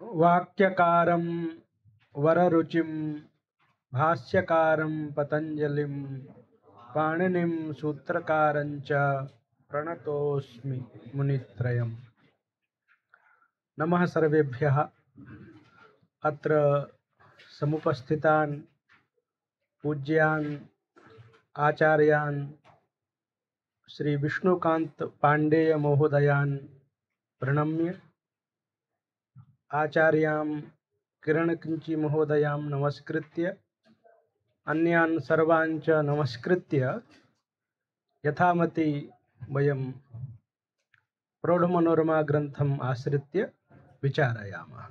वाक्यकारं वररुचिं भाष्यकारं पतंजलिं पाणिनिं सूत्रकारं च प्रणतोऽस्मि मुनित्रयम्। नमः सर्वेभ्यः। अत्र समुपस्थितान् पूज्यान् आचार्यान् श्री विष्णुकांत पांडेय महोदयान् प्रणम्य आचार्यां किरणकिंची महोदयां नमस्कृत्य अन्यान् सर्वान् च नमस्कृत्य यथामति वयं प्रौढमनोरमा ग्रन्थम् आश्रित्य विचारयामः।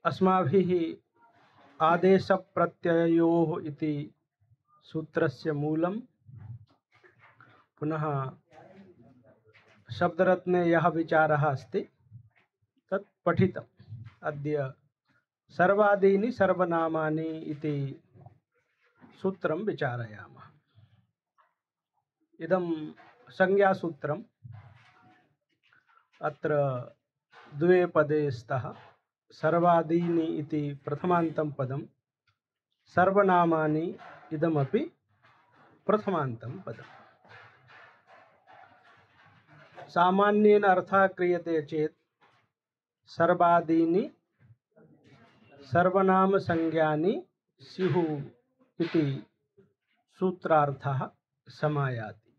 अस्माभिः आदेशप्रत्ययोः इति सूत्रस्य मूलं पुनः शब्दरत्ने यः विचारः अस्ति तत् पठितम्। अद्य सर्वादीनि सर्वनामानि इति सूत्रं विचारयामः। इदं संज्ञासूत्रम्। अत्र द्वे पदे स्तः। सर्वादीनि इति प्रथमान्तं पदं, सर्वनामानि इदमपि प्रथमान्तं पदम्। सामान्येन अर्थः क्रियते चेत् सर्वादीनि सर्वनामसंज्ञानि स्युः इति सूत्रार्थः समायाति।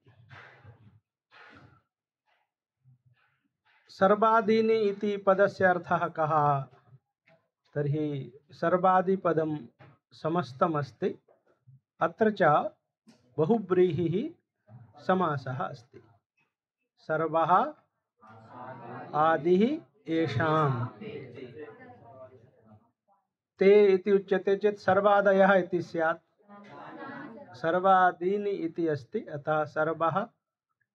सर्वादीनि इति पदस्य अर्थः कः? तर्हि सर्वादिपदं समस्तमस्ति। अत्र च बहुव्रीहिः समासः अस्ति। सर्वः आदिः येषां ते इति उच्यते चेत् सर्वादयः इति स्यात्। सर्वादीनि इति अस्ति, अतः सर्वः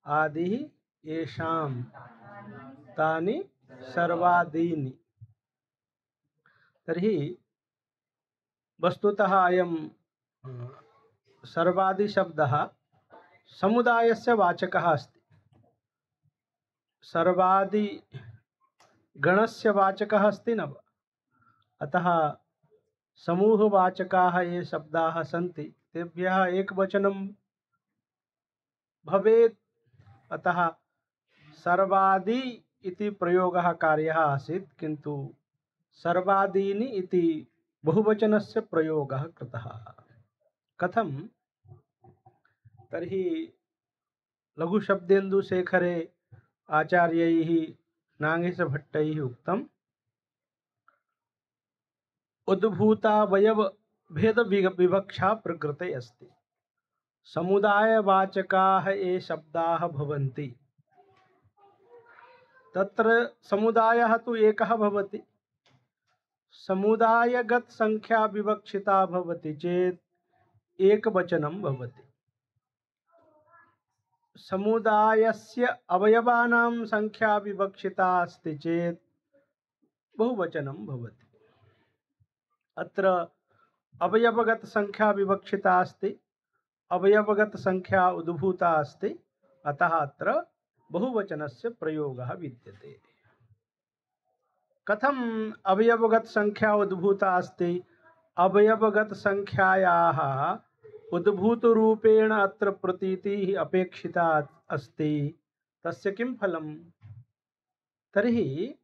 आदिः येषां तानि सर्वादीनि। तर्हि वस्तुतः अयं सर्वादिशब्दः समुदायस्य वाचकः अस्ति। सर्वादिगणस्य वाचकः अस्ति न वा? अतः समूहवाचकाः ये शब्दाः सन्ति तेभ्यः एकवचनं भवेत्। अतः सर्वादि इति प्रयोगः कार्यः आसीत्, किन्तु सर्वादीनि इति बहुवचनस्य प्रयोगः कृतः। कथं? तर्हि लघुशब्देन्दुशेखरे आचार्यैः नागेशभट्टैः उक्तम्, उद्भूतावयव भेद विवक्षा प्रकृते अस्ति। समुदायवाचकाः ये शब्दाः भवन्ति तत्र समुदायः तु एकः भवति। समुदायगत संख्या विवक्षिता भवति चेत् एकवचनं भवति। समुदायस्य अवयवानां संख्या विवक्षिता अस्ति चेत् बहुवचनं भवति। अत्र अवयवगत संख्या विवक्षिता अस्ति, अवयवगत संख्या उद्भूता अस्ति, अतः अत्र बहुवचनस्य प्रयोगः विद्यते। कथम अवयवगत संख्या उद्भूता अस्ति? अवयवगत संख्यायाः उद्भूतरूपेण अत्र प्रतीतिः अपेक्षिता अस्ति। तस्य किं फलम्? तर्हि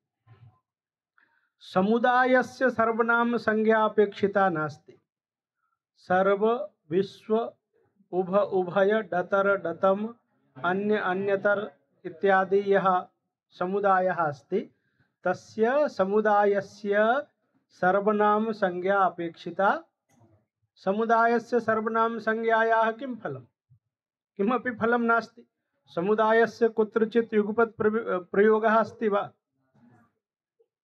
समुदायस्य सर्वनाम संज्ञा अपेक्षिता नास्ति। सर्व, विश्व, उभ, उभय, डतर, डतम, अन्य, अन्यतर इत्यादि यः समुदायः अस्ति तस्य समुदायस्य सर्वनाम संज्ञा अपेक्षिता। समुदायस्य सर्वनाम संज्ञायाः किं फलं? किमपि फलं नास्ति। समुदायस्य कुत्रचित् युगपत् प्रयोगः अस्ति वा?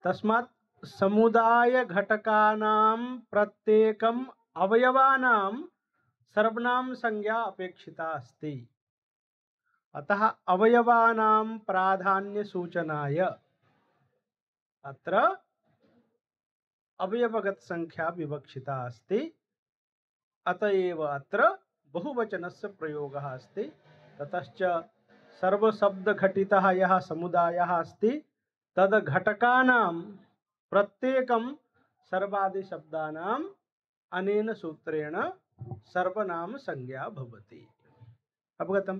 तस्मात् समुदाय घटकानां प्रत्येकम् अवयवानां सर्वनाम संज्ञा अपेक्षिता अस्ति। अतः अवयवानां प्राधान्य सूचनाय अत्र अवयवगत संख्या विवक्षिता अस्ति। अतएव अत्र बहुवचनस्य प्रयोगः अस्ति। ततश्च सर्वशब्दघटितः यः समुदायः अस्ति तद घटकानां प्रत्येकं सर्वादि शब्दानां अनेन सूत्रेण सर्वनाम संज्ञा भवति। अवगतम्?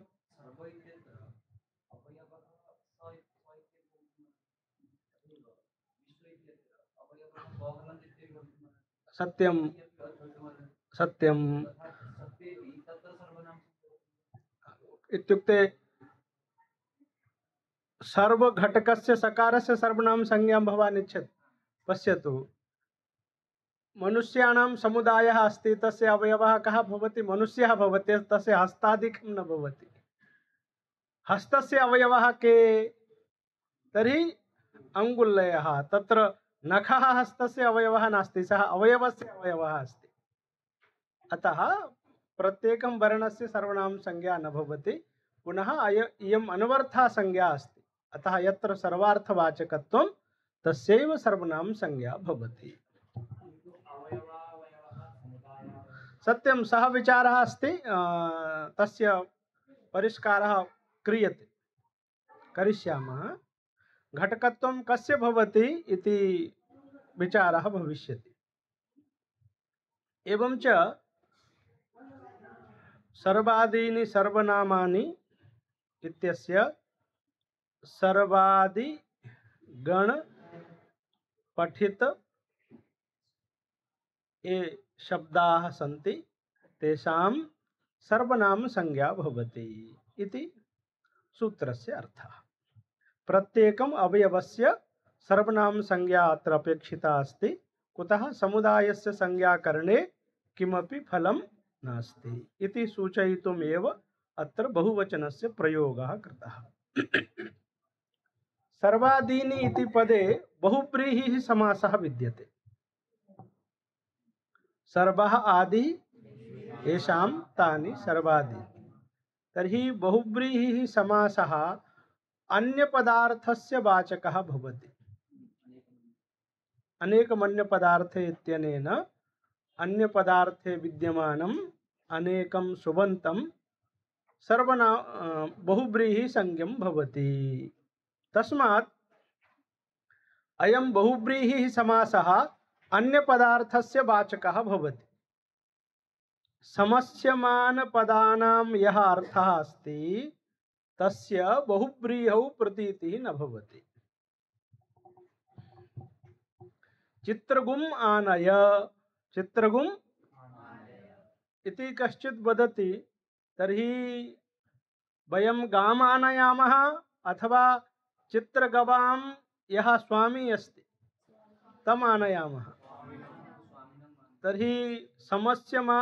सत्यं सत्यं इत्युक्ते सर्वघटकस्य सकारस्य सर्वनाम संज्ञा भवान् इच्छति। पश्यतु, मनुष्याणां समुदायः अस्ति, तस्य अवयवः कः भवति? मनुष्यः भवति, तस्य हस्तादिकं न भवति। हस्तस्य अवयवः के? तर्हि अङ्गुल्यः। तत्र नखः हस्तस्य अवयवः नास्ति, सः अवयवस्य अवयवः अस्ति। अतः प्रत्येकं वर्णस्य सर्वनाम संज्ञा न भवति। पुनः इयम् अनवरथा संज्ञा अस्ति। अतः यत्र सर्वार्थवाचकत्वं तस्यैव सर्वनाम संज्ञा भवति। सत्यं, सः विचारः अस्ति, तस्य परिष्कारः क्रियते, करिष्यामः। घटकत्वं कस्य भवति इति विचारः भविष्यति। एवं च सर्वादीनि सर्वनामानि इत्यस्य सर्वादि गण पठित ये शब्दाः सन्ति तेषां सर्वनाम संज्ञा भवति इति सूत्रस्य अर्थः। प्रत्येकम् अवयवस्य सर्वनाम संज्ञा अत्र अपेक्षिता अस्ति। कुतः? समुदायस्य संज्ञाकरणे किमपि फलं नास्ति इति सूचयितुमेव अत्र बहुवचनस्य प्रयोगः कृतः। सर्वादीनि इति पदे बहुव्रीहिः समासः विद्यते। सर्वः आदि येषां तानि सर्वादि। तर्हि बहुव्रीहिः समासः अन्यपदार्थस्य वाचकः भवति। अनेकमन्यपदार्थे इत्यनेन अन्यपदार्थे विद्यमानम् अनेकं सुबन्तं सर्वनाम बहुव्रीहि संज्ञं भवति। तस्मात् अयं बहुव्रीहिः समासः अन्यपदार्थस्य वाचकः भवति। समस्यमानपदानां यः अर्थः अस्ति तस्य बहुव्रीहौ प्रतीतिः न भवति। चित्रगुम् आनय, चित्रगुम् इति कश्चित् वदति, तर्हि वयं गाम् आनयामः अथवा चित्रगवां यः स्वामी अस्ति तम् आनयामः। तर्हि समस्यमा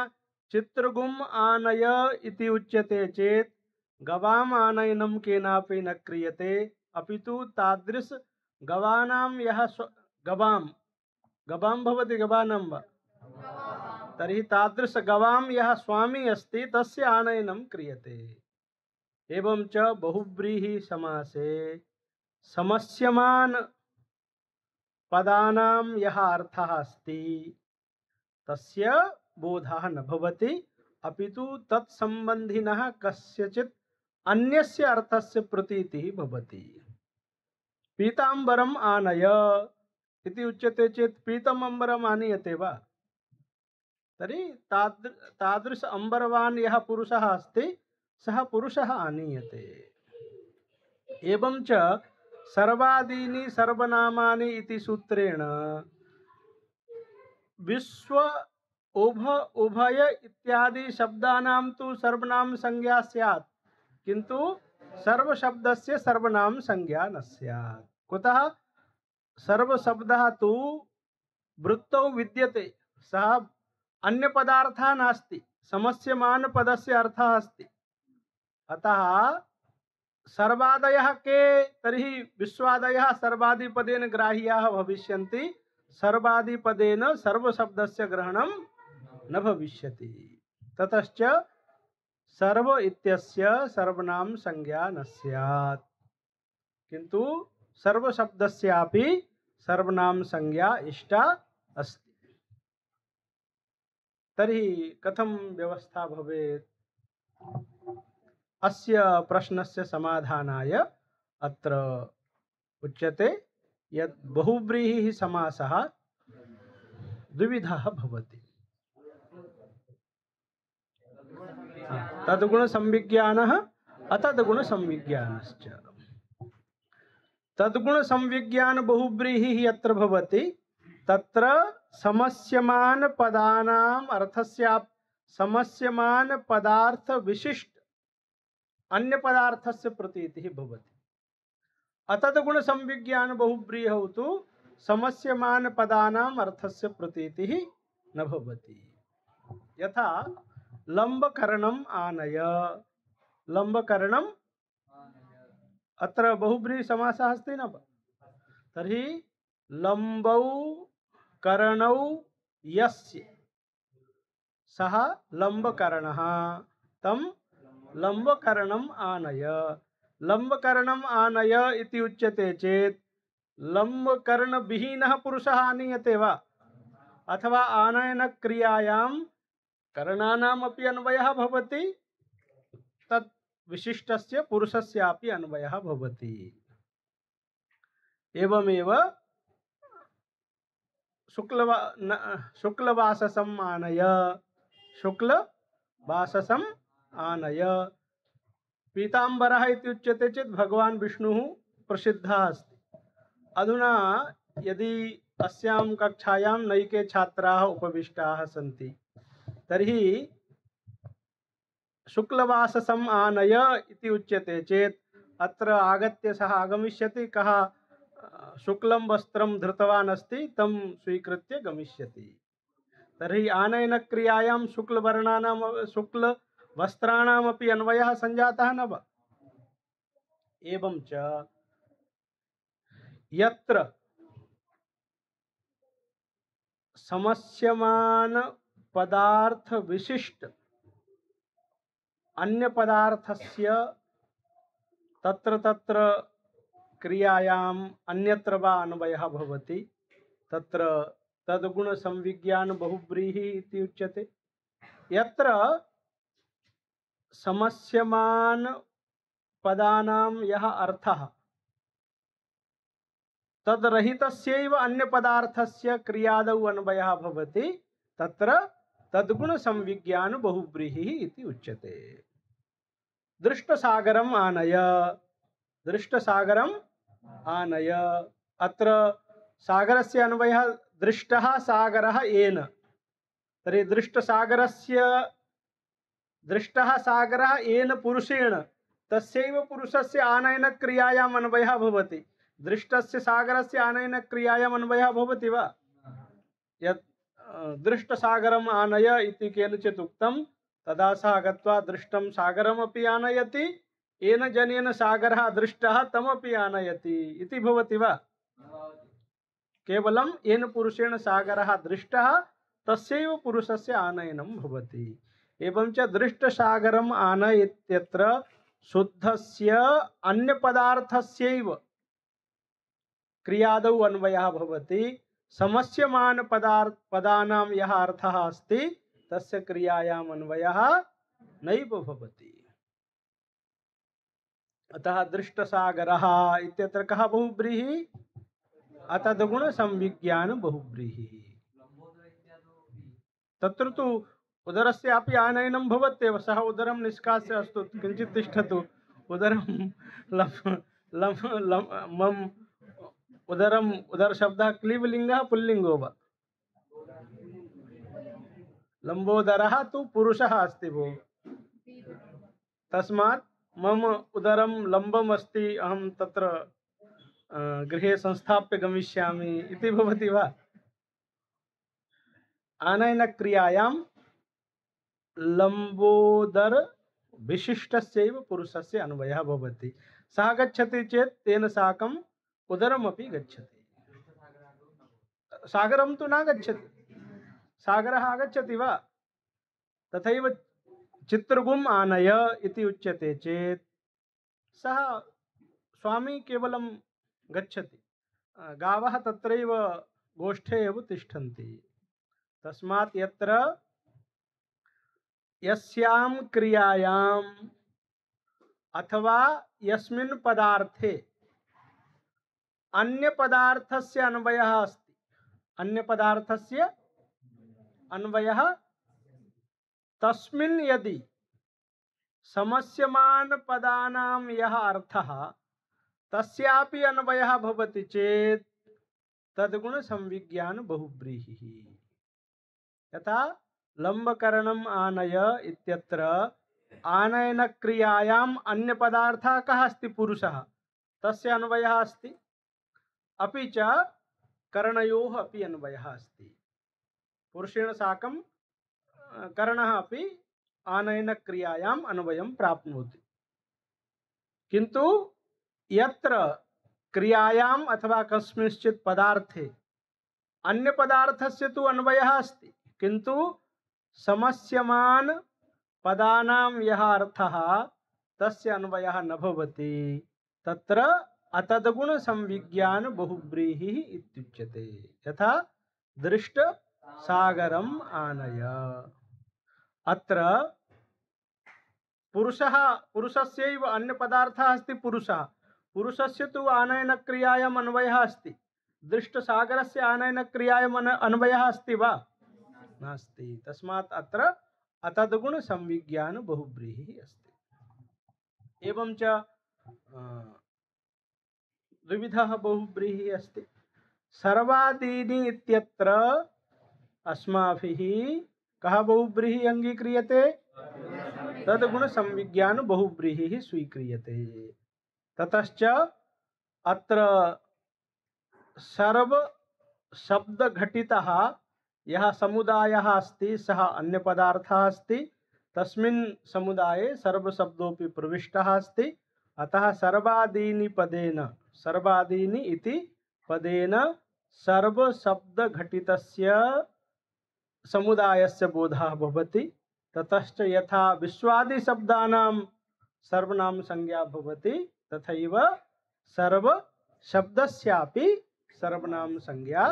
चित्रगुम् आनय इति उच्यते चेत् गवाम् आनयनं केनापि न क्रियते, अपितु तादृश गवानां यः गवां भवति, गवानां वा? तर्हि तादृश गवां यः स्वामी अस्ति तस्य आनयनं क्रियते। एवं च बहुव्रीहि समासे समस्यमान पदानां यः अर्थः अस्ति तस्य बोधः न भवति, अपितु तत्सम्बन्धिनः कस्यचित् अन्यस्य अर्थस्य प्रतीतिः भवति। पीताम्बरम् आनय इति उच्यते चेत् पीतम् अम्बरम् आनीयते वा? तर्हि तादृश अम्बरवान् यः पुरुषः अस्ति सः पुरुषः आनीयते। एवं च सर्वादीनि सर्वनामानि इति सूत्रेण विश्व उभय इत्यादि शब्दानां तु सर्वनाम संज्ञा स्यात्, किन्तु सर्वशब्दस्य सर्वनाम संज्ञा न स्यात्। कुतः? सर्वशब्दः तु वृत्तौ विद्यते, सः अन्यपदार्थः नास्ति, समस्यमानपदस्य अर्थः अस्ति। अतः सर्वादयः के? तर्हि विश्वादयः सर्वादिपदेन ग्राह्याः भविष्यन्ति, सर्वादिपदेन सर्वशब्दस्य ग्रहणं न भविष्यति। ततश्च सर्व इत्यस्य सर्वनाम संज्ञा न स्यात्, किन्तु सर्वशब्दस्यापि सर्वनाम संज्ञा इष्टा अस्ति। तर्हि कथं व्यवस्था भवेत्? अस्य प्रश्नस्य समाधानाय अत्र उच्यते यत् बहुव्रीहिः समासः द्विविधः भवति। तद्गुणसंविज्ञानः अतद्गुणसंविज्ञानश्च। तद्गुणसंविज्ञान बहुव्रीहिः यत्र भवति तत्र समस्यमान पदानाम् अर्थस्य समस्यमान पदार्थ विशिष्ट अन्य पदार्थस्य प्रतीतिः भवति। अतद्गुणसंविज्ञान बहुव्रीहौ तु समस्यमान पदानाम् अर्थस्य प्रतीतिः न भवति। यथा लंबकरणम् आनय, लंबकरणम् अत्र बहुव्रीहि समासः अस्ति न। तर्हि लंबौ करणौ यस्य सः लंबकरणः तं लंबकरणम् आनय। लंबकरणम् आनय इति उच्यते चेत् लंबकरणविहीनः पुरुषः आनीयते वा, अथवा आनयन क्रियायां करणानामपि अन्वयः भवति, तत् विशिष्टस्य पुरुषस्यापि अन्वयः भवति। एवमेव शुक्लवाससम् आनय, शुक्लवाससम् आनय। पीताम्बरः इति उच्यते चेत् भगवान् विष्णुः प्रसिद्धः अस्ति। अधुना यदि अस्यां कक्षायां नैके छात्राः उपविष्टाः सन्ति तर्हि शुक्लवाससम् आनय इति उच्यते चेत् अत्र आगत्य सः आगमिष्यति, कः शुक्लं वस्त्रं धृतवान् अस्ति तं स्वीकृत्य गमिष्यति। तर्हि आनयन क्रियायां शुक्लवर्णानां शुक्लवस्त्राणामपि अन्वयः संजातः न वा। एवं च यत्र समस्यमान पदार्थ विशिष्ट अन्य पदार्थस्य तत्र तत्र क्रियायाम् अन्यत्र वा अन्वयः भवति, तत्र तद्गुण संविज्ञान बहुव्रीहि इति उच्यते। यत्र समस्यमान पदानां यः अर्थः तद्रहितस्यैव अन्य पदार्थस्य क्रियादौ अन्वयः भवति, तत्र तद्गुण संविज्ञान बहुव्रीहि इति उच्यते। दृष्टसागरम् आनय, दृष्टसागरम् आनय। अत्र सागरस्य अन्वयः दृष्टः सागरः येन। तर्हि दृष्टः सागरः येन पुरुषेण, तस्यैव पुरुषस्य आनयन क्रियायाम् अन्वयः भवति। दृष्टस्य सागरस्य आनयन क्रियायाम् अन्वयः भवति वा? यत् दृष्टसागरम् आनय इति केनचित् उक्तं, तदा सः गत्वा दृष्टं सागरमपि आनयति, येन जनेन सागरः दृष्टः तमपि आनयति इति भवति वा? केवलं येन पुरुषेण सागरः दृष्टः तस्यैव पुरुषस्य आनयनं भवति। एवं च दृष्टसागरम् आनय इत्यत्र शुद्धस्य अन्य पदार्थस्यैव क्रियादौ अन्वयः भवति। समस्यमान पदानां यः अर्थः अस्ति तस्य क्रियायाम् अन्वयः नैव भवति। अतः दृष्टसागरः इत्यत्र कः बहुव्रीहि? अतद्गुण संविज्ञान बहुव्रीहि। तत्र तु उदरस्यापि आनयनं भवत्येव। सः उदरं निष्कास्य, अस्तु किञ्चित् तिष्ठतु, उदरं मम उदरम, उदर शब्दः क्लीबलिङ्गः पुल्लिङ्गो वा? लंबोदरः तु पुरुषः अस्ति भो। तस्मात् मम उदरं लंबम् अस्ति, अहं तत्र गृहे संस्थाप्य गमिष्यामि इति भवति वा? आनयन क्रियायां लंबोदर विशिष्टस्यैव पुरुषस्य अन्वयः भवति। सः गच्छति चेत् तेन साकम् उदरमपि गच्छति। सागरं तु न गच्छति। सागरः आगच्छति वा? तथैव चित्रगुम् आनय इति उच्यते चेत् सः स्वामी केवलं गच्छति, गावः तत्रैव गोष्ठे एव तिष्ठन्ति। तस्मात् यत्र यस्यां क्रियायाम् अथवा यस्मिन् पदार्थे अन्य पदार्थस्य अन्वयः अस्ति। अन्य पदार्थस्य अन्वयः तस्मिन् यदि समस्यमान पदानां यः अर्थः तस्यापि अन्वयः भवति चेत् तद्गुण संविज्ञान बहुव्रीहिः। यथा लम्बकरणम् आनय इत्यत्र आनयन क्रियायाम् अन्य पदार्थः कः अस्ति? पुरुषः, तस्य अन्वयः अस्ति। अपि च करणयोः अपि अन्वयः अस्ति। पुरुषेण साकं करणः अपि आनयन क्रियायाम् अन्वयं प्राप्नोति। किन्तु यत्र क्रियायाम् अथवा कस्मिंश्चित् पदार्थे अन्य पदार्थस्य तु अन्वयः अस्ति, किन्तु समस्यमान पदानां यः अर्थः तस्य अन्वयः न भवति, तत्र अतद्गुण संविज्ञान बहुव्रीहिः इत्युच्यते। यथा दृष्ट सागरम् आनय। अत्र पुरुषस्यैव अन्य पदार्थः अस्ति पुरुषः, पुरुषस्य तु आनयन क्रियायाम् अन्वयः अस्ति। दृष्ट सागरस्य आनयन क्रियायाम् अन्वयः अस्ति वा? नास्ति। तस्मात् अत्र अतद्गुण संविज्ञान बहुव्रीहिः अस्ति। एवं च द्विविधः बहुव्रीहिः अस्ति। सर्वादीनि इत्यत्र अस्माभिः कः बहुव्रीहिः अंगीक्रियते? तद्गुण संविज्ञान बहुव्रीहिः स्वीक्रियते। ततश्च अत्र सर्व शब्द घटितः यः समुदायः अस्ति सः अन्य पदार्थः अस्ति। तस्मिन् समुदाये सर्वशब्दोऽपि प्रविष्टः अस्ति। अतः सर्वादीनि पदेन, सर्वादीनि इति पदेन सर्वशब्द घटितस्य समुदायस्य बोधः भवति। ततश्च यथा विश्वादि शब्दानां सर्वनाम संज्ञा भवति तथैव सर्व शब्दस्यापि सर्वनाम संज्ञा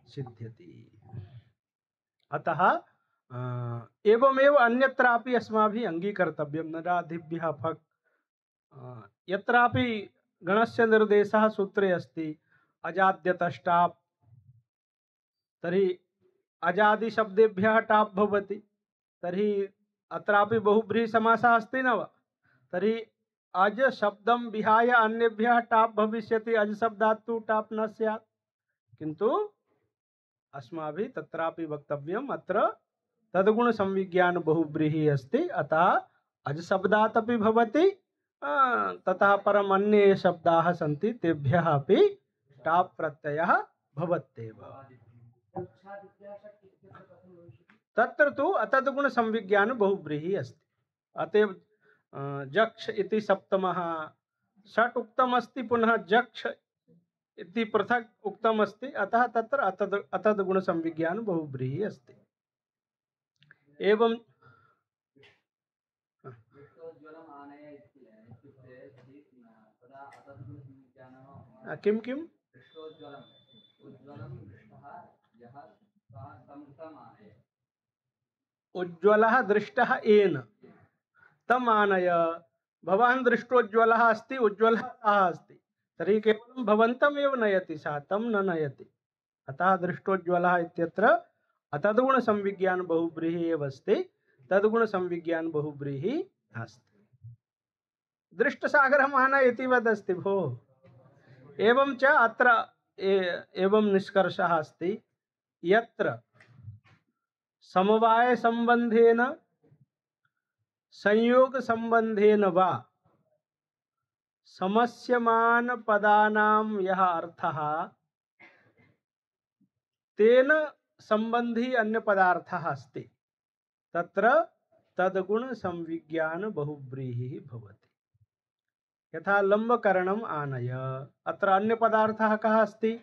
सिद्ध्यति। अतः एवमेव अन्यत्रापि अस्माभिः अंगीकर्तव्यं। नराधिभ्यः फक् यत्रापि गणस्य निर्देशः सूत्रे अस्ति अजाद्यतश्टाप्, तर्हि अजादि शब्देभ्यः टाप् भवति। तर्हि अत्रापि बहुव्रीहि समासः अस्ति न वा? तर्हि अज शब्दं विहाय अन्येभ्यः टाप् भविष्यति। अज शब्दात् तु टाप् न स्यात्, किन्तु अस्माभिः तत्रापि वक्तव्यम् अत्र तद्गुण संविज्ञान बहुव्रीहिः अस्ति। अतः अज शब्दात् अपि भवति, ततः परम् अन्ये शब्दाः सन्ति तेभ्यः अपि टाप् प्रत्ययः भवत्येव। तत्र तु अतद्गुण संविज्ञान बहुव्रीहिः अस्ति। अतएव जक्ष इति सप्तमः षट् उक्तमस्ति, पुनः जक्ष इति पृथक् उक्तमस्ति। अतः तत्र अतद्गुण संविज्ञान बहुव्रीहिः अस्ति। एवं किं किम्? उज्ज्वलः दृष्टः येन तम् आनय। भवान् दृष्टोज्ज्वलः अस्ति, उज्ज्वलः सः अस्ति, तर्हि केवलं भवन्तमेव नयति, सः तं न नयति। अतः दृष्टोज्ज्वलः इत्यत्र अतद्गुण संविज्ञान बहुव्रीहिः एव अस्ति। तद्गुण संविज्ञान बहुव्रीहिः नास्ति। दृष्टसागरम् आनय इति वदस्ति भोः। एवं च अत्र एवं निष्कर्षः अस्ति यत्र समवाय संबंधेन संयोग संबंधेन वा समस्यमान पदानां यः अर्थः तेन संबंधी अन्य पदार्थः अस्ति, तत्र तद्गुण संविज्ञान बहुव्रीहिः भवति। यथा लम्बकरणम् आनय, अत्र अन्य पदार्थः कः अस्ति?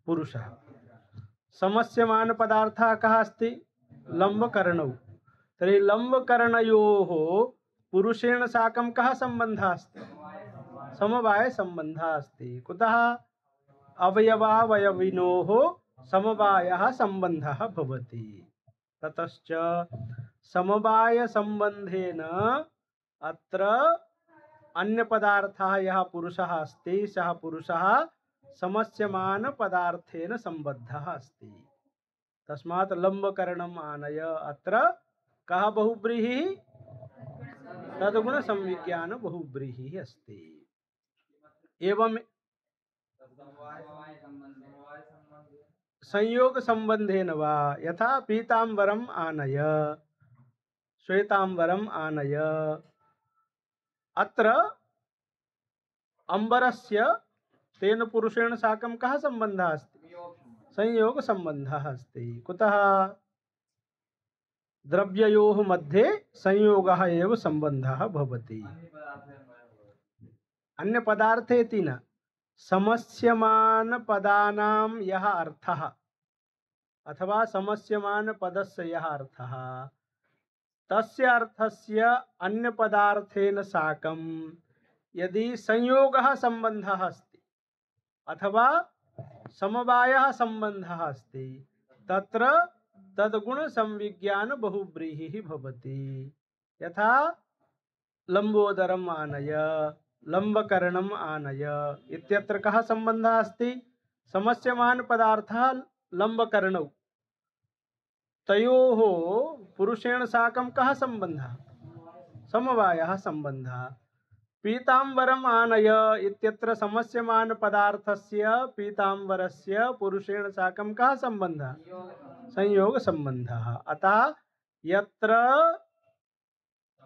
पुरुषः। समस्यमान पदार्थः कः अस्ति? लम्बकरणौ। तर्हि लम्बकरणयोः पुरुषेण साकं कः सम्बन्धः अस्ति? समवाय सम्बन्धः अस्ति। कुतः? अवयवावयविनोः समवायः सम्बन्धः भवति। ततश्च समवाय सम्बन्धेन अत्र अन्य पदार्थः यः पुरुषः अस्ति सः पुरुषः समस्यमान पदार्थेन सम्बद्धः अस्ति। तस्मात् लम्बकरणम् आनय। अत्र कः बहुव्रीहिः? तद्गुण संविज्ञान बहुव्रीहिः अस्ति। एवं संयोग संबंधेन वा यथा पीतांबरम आनय श्वेतांबरम आनय। अत्र अंबरस्य तेन पुरुषेण साकं कः संबंधः अस्ति? संयोग संबंधः अस्ति। कुतः? द्रव्ययोः मध्ये संयोगः एव संबंधः भवति। अन्य पदार्थेति न। समस्यमान पदानां यः अर्थः अथवा समस्यमान पदस्य यः अर्थः तस्य अर्थस्य अन्य पदार्थेन साकं यदि संयोगः संबंधः अस्ति अथवा समवायः संबंधः अस्ति तत्र तद्गुण संविज्ञान बहुव्रीहिः भवति। यथा लंबोदरम आनय लंबकरणम आनय इत्यत्र कः संबंधः अस्ति? समस्यमान पदार्थः लंबकरणौ। तयोः पुरुषेण साकं कः संबंधः? समवायः संबंधः। पीतांबरम आनय इत्यत्र समस्यमान पदार्थस्य पीतांबरस्य पुरुषेण साकं कः संबंधः? संयोग संबंधः। अतः यत्र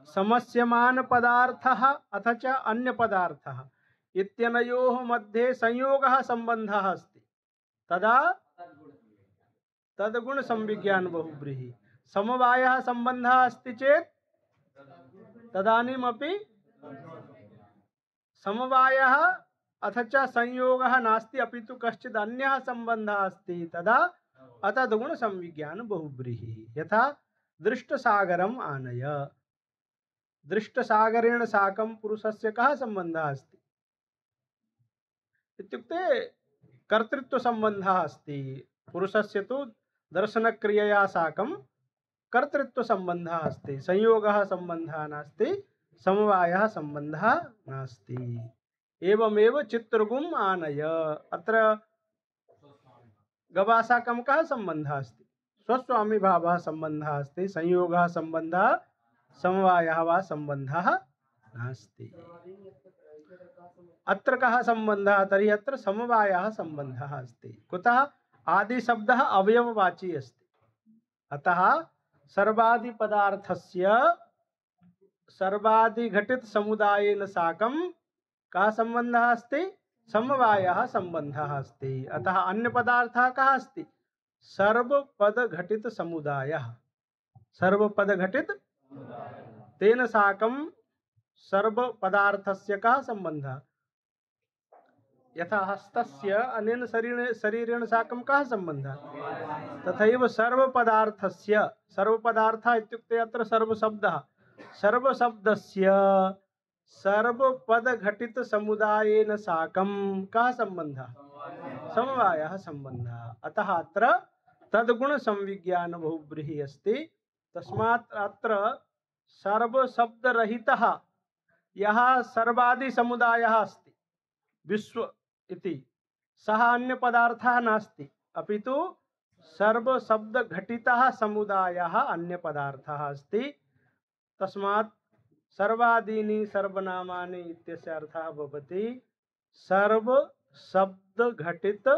समस्यमान पदार्थः अथ च अन्य पदार्थः इत्यनयोः मध्ये संयोगः संबंधः अस्ति तदा तद्गुण संविज्ञान बहुव्रीहि। समवायः संबंधः अस्ति चेत् तदानीमपि समवायः अथ च संयोगः नास्ति अपितु कश्चित् अन्यः संबंधः अस्ति तदा अतद्गुण संविज्ञान बहुव्रीहि। यथा दृष्टसागरम् आनय। दृष्टसागरेण साकं पुरुषस्य कः संबंधः अस्ति? इत्युक्ते कर्तृत्व संबंधः अस्ति। पुरुषस्य तु दर्शनक्रियया साकं कर्तृत्व संबंधः अस्ति। संयोगः संबंधः नास्ति, समवायः संबंधः नास्ति। एवमेव चित्रगुम् आनय। अत्र गवा साकं कः संबंधः अस्ति? स्वस्वामी भावः संबंधः अस्ति। संयोगः संबंधः समवायः वा संबंधः नास्ति। अत्र कः संबंधः? तर्हि अत्र समवायः संबंधः अस्ति। कुतः? आदि शब्दः अवयववाची अस्ति। अतः सर्वादि पदार्थस्य सर्वादि घटित समुदायेन साकं कः संबंधः अस्ति? समवायः संबंधः अस्ति। अतः अन्य पदार्थः कः अस्ति? सर्वपद घटित समुदायः। सर्वपद घटित तेन साकं सर्व पदार्थस्य कः संबंधः? यथा हस्तस्य अनेन शरीरेण साकं कः संबंधः? तथैव सर्वपदार्थस्य सर्वपदार्थः इत्युक्ते अत्र सर्वशब्दः सर्वशब्दस्य सर्वपद घटित समुदायेन साकं कः संबंधः? समवायः संबंधः। अतः अत्र तद्गुण संविज्ञान बहुव्रीहिः अस्ति। तस्मात् अत्र सर्वशब्दरहितः यः सर्वादि समुदायः अस्ति विश्व इति सः अन्य पदार्थः नास्ति अपितु सर्वशब्द घटितः समुदायः अन्य पदार्थः अस्ति। तस्मात् सर्वादीनि सर्वनामानि इत्यस्य अर्थः भवति सर्वशब्द घटित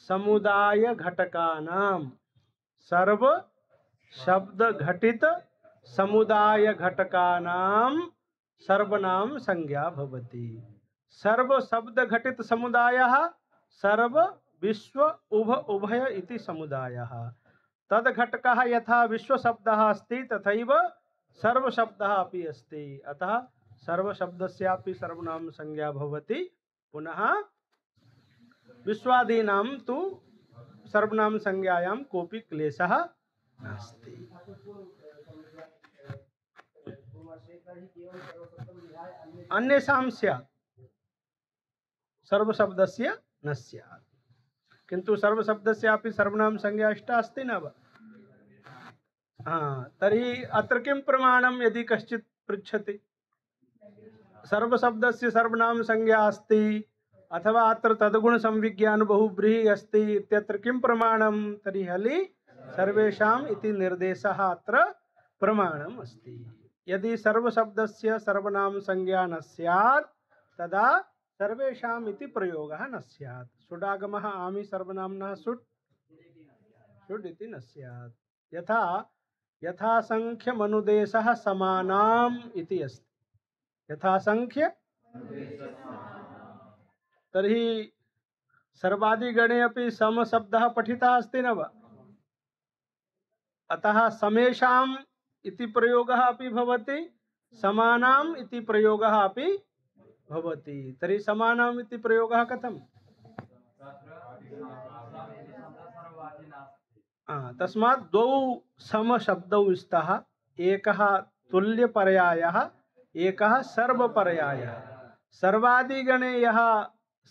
समुदाय घटकानां सर्व शब्द घटित समुदाय घटकानां सर्वनाम संज्ञा भवति। सर्व शब्द घटित समुदायः सर्व विश्व उभय इति समुदायः। तद घटकः यथा विश्व शब्दः अस्ति तथैव सर्व शब्दः अपि अस्ति। अतः सर्व शब्दस्यापि सर्वनाम संज्ञा भवति। पुनः विश्वादीनां तु सर्वनाम संज्ञायां कोऽपि क्लेशः नास्ति। अन्येषां स्यात् सर्वशब्दस्य न स्यात्। किन्तु सर्वशब्दस्यापि सर्वनाम संज्ञा इष्टा अस्ति न वा? तर्हि अत्र किं प्रमाणं यदि कश्चित् पृच्छति? सर्वशब्दस्य सर्वनाम संज्ञा अस्ति अथवा अत्र तद्गुण संविज्ञान बहुव्रीहि अस्ति इत्यत्र किं प्रमाणं? तर्हि हलि सर्वेषाम् इति निर्देशः अत्र प्रमाणम् अस्ति। यदि सर्वशब्दस्य सर्वनाम संज्ञा न स्यात् तदा सर्वेषाम् इति प्रयोगः न स्यात्। सुडागमः आमि सर्वनाम्नः सुट् सुड् इति न स्यात्। यथा यथासंख्यमनुदेशः समानाम् इति अस्ति। यथासंख्य तर्हि सर्वादिगणे अपि सम शब्दः पठितः अस्ति न वा? अतः समेषाम् इति प्रयोगः अपि भवति, समानाम् इति प्रयोगः अपि भवति। तर्हि समानाम् इति प्रयोगः कथम्? तस्मात् द्वौ समशब्दौ स्तः, एकः तुल्यपर्यायः, एकः सर्वपर्यायः। सर्वादिगणे यः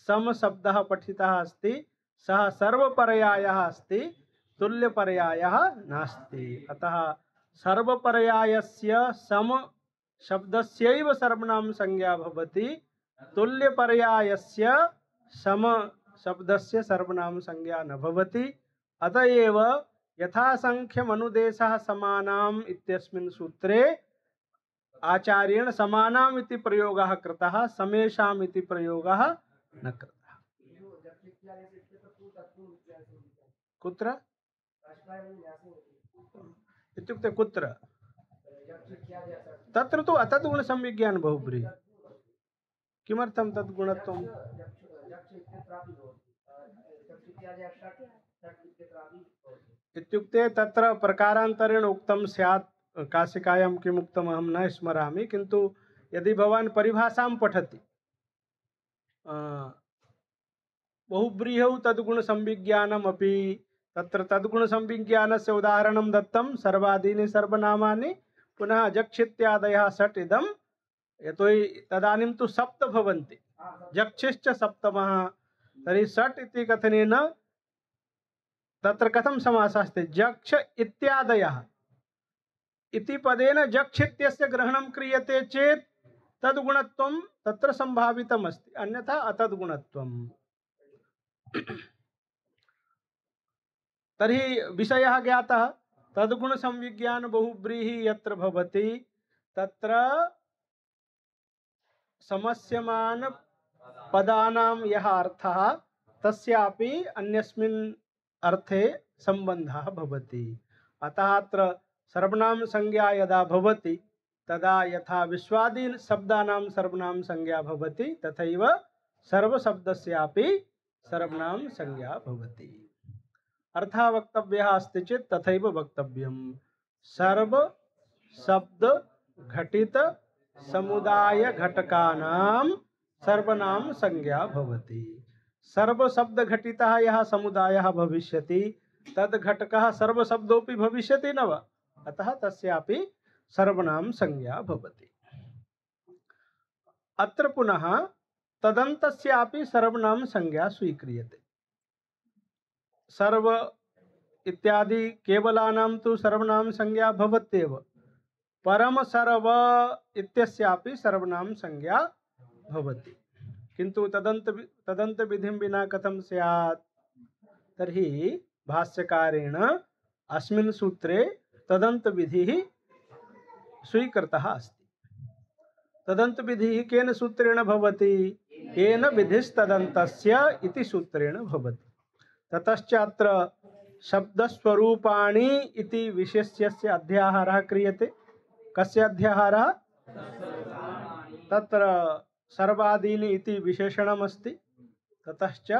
समशब्दः पठितः अस्ति सः सर्वपर्यायः अस्ति, तुल्यपर्यायः नास्ति। अतः सर्वपर्यायस्य सम शब्दस्यैव सर्वनाम संज्ञा भवति, तुल्यपर्यायस्य सम शब्दस्य सर्वनाम संज्ञा न भवति। अतएव यथासंख्यमनुदेशः समानाम् इत्यस्मिन् सूत्रे आचार्येण समानाम् इति प्रयोगः कृतः, समेषाम् इति प्रयोगः न कृतः। कुत्र इत्युक्ते कुत्र? तत्र तु अतद्गुण संविज्ञान बहुव्रीहि। किमर्थं तद्गुणत्वम्? इत्युक्ते तत्र प्रकारान्तरेण उक्तं स्यात्। काशिकायां किम् उक्तम् अहं न स्मरामि, किन्तु यदि भवान् परिभाषां पठति बहुव्रीहौ तद्गुण संविज्ञानमपि, तत्र तद्गुण संविज्ञानस्य उदाहरणं दत्तं सर्वादीनि सर्वनामानि, पुनः जक्षित्यादयः षट् इदं, यतोहि तदानीं तु सप्त भवन्ति, जक्षिश्च सप्तमः। तर्हि षट् इति कथनेन तत्र कथं समासः अस्ति? जक्ष इत्यादयः इति पदेन जक्ष इत्यस्य ग्रहणं क्रियते चेत् तद्गुणत्वं तत्र संभावितम् अस्ति, अन्यथा अतद्गुणत्वम्। तर्हि विषयः ज्ञातः। तद्गुण संविज्ञान बहुव्रीहि यत्र भवति तत्र समस्यमान पदानां यः अर्थः तस्यापि अन्यस्मिन् अर्थे सम्बन्धः भवति। अतः अत्र सर्वनाम संज्ञा यदा भवति तदा यथा विश्वादीन शब्दानां सर्वनाम संज्ञा भवति तथैव सर्वशब्दस्यापि सर्वनाम संज्ञा भवति। अर्थः वक्तव्यः अस्ति चेत् तथैव वक्तव्यम्। सर्व शब्द घटित समुदाय घटकानां सर्वनाम संज्ञा भवति। सर्व शब्द घटितः यः समुदायः भविष्यति तद् घटकः सर्वशब्दोऽपि भविष्यति न वा? अतः तस्यापि सर्वनाम संज्ञा भवति। अत्र पुनः तदन्तस्यापि सर्वनाम संज्ञा स्वीक्रियते। सर्व इत्यादि केवलानां तु सर्वनाम संज्ञा भवत्येव, परम सर्व इत्यस्यापि सर्वनाम संज्ञा भवति। किन्तु तदन्त विधिं विना कथं स्यात्? तर्हि भाष्यकारेण अस्मिन् सूत्रे तदन्त विधिः स्वीकृतः अस्ति। तदन्त विधिः केन सूत्रेण भवति? येन विधिस्तदन्तस्य इति सूत्रेण भवति। ततश्च अत्र शब्दस्वरूपाणि इति विशेष्यस्य अध्याहारः क्रियते। कस्य अध्याहारः? तत्र सर्वादीनि इति विशेषणमस्ति। ततश्च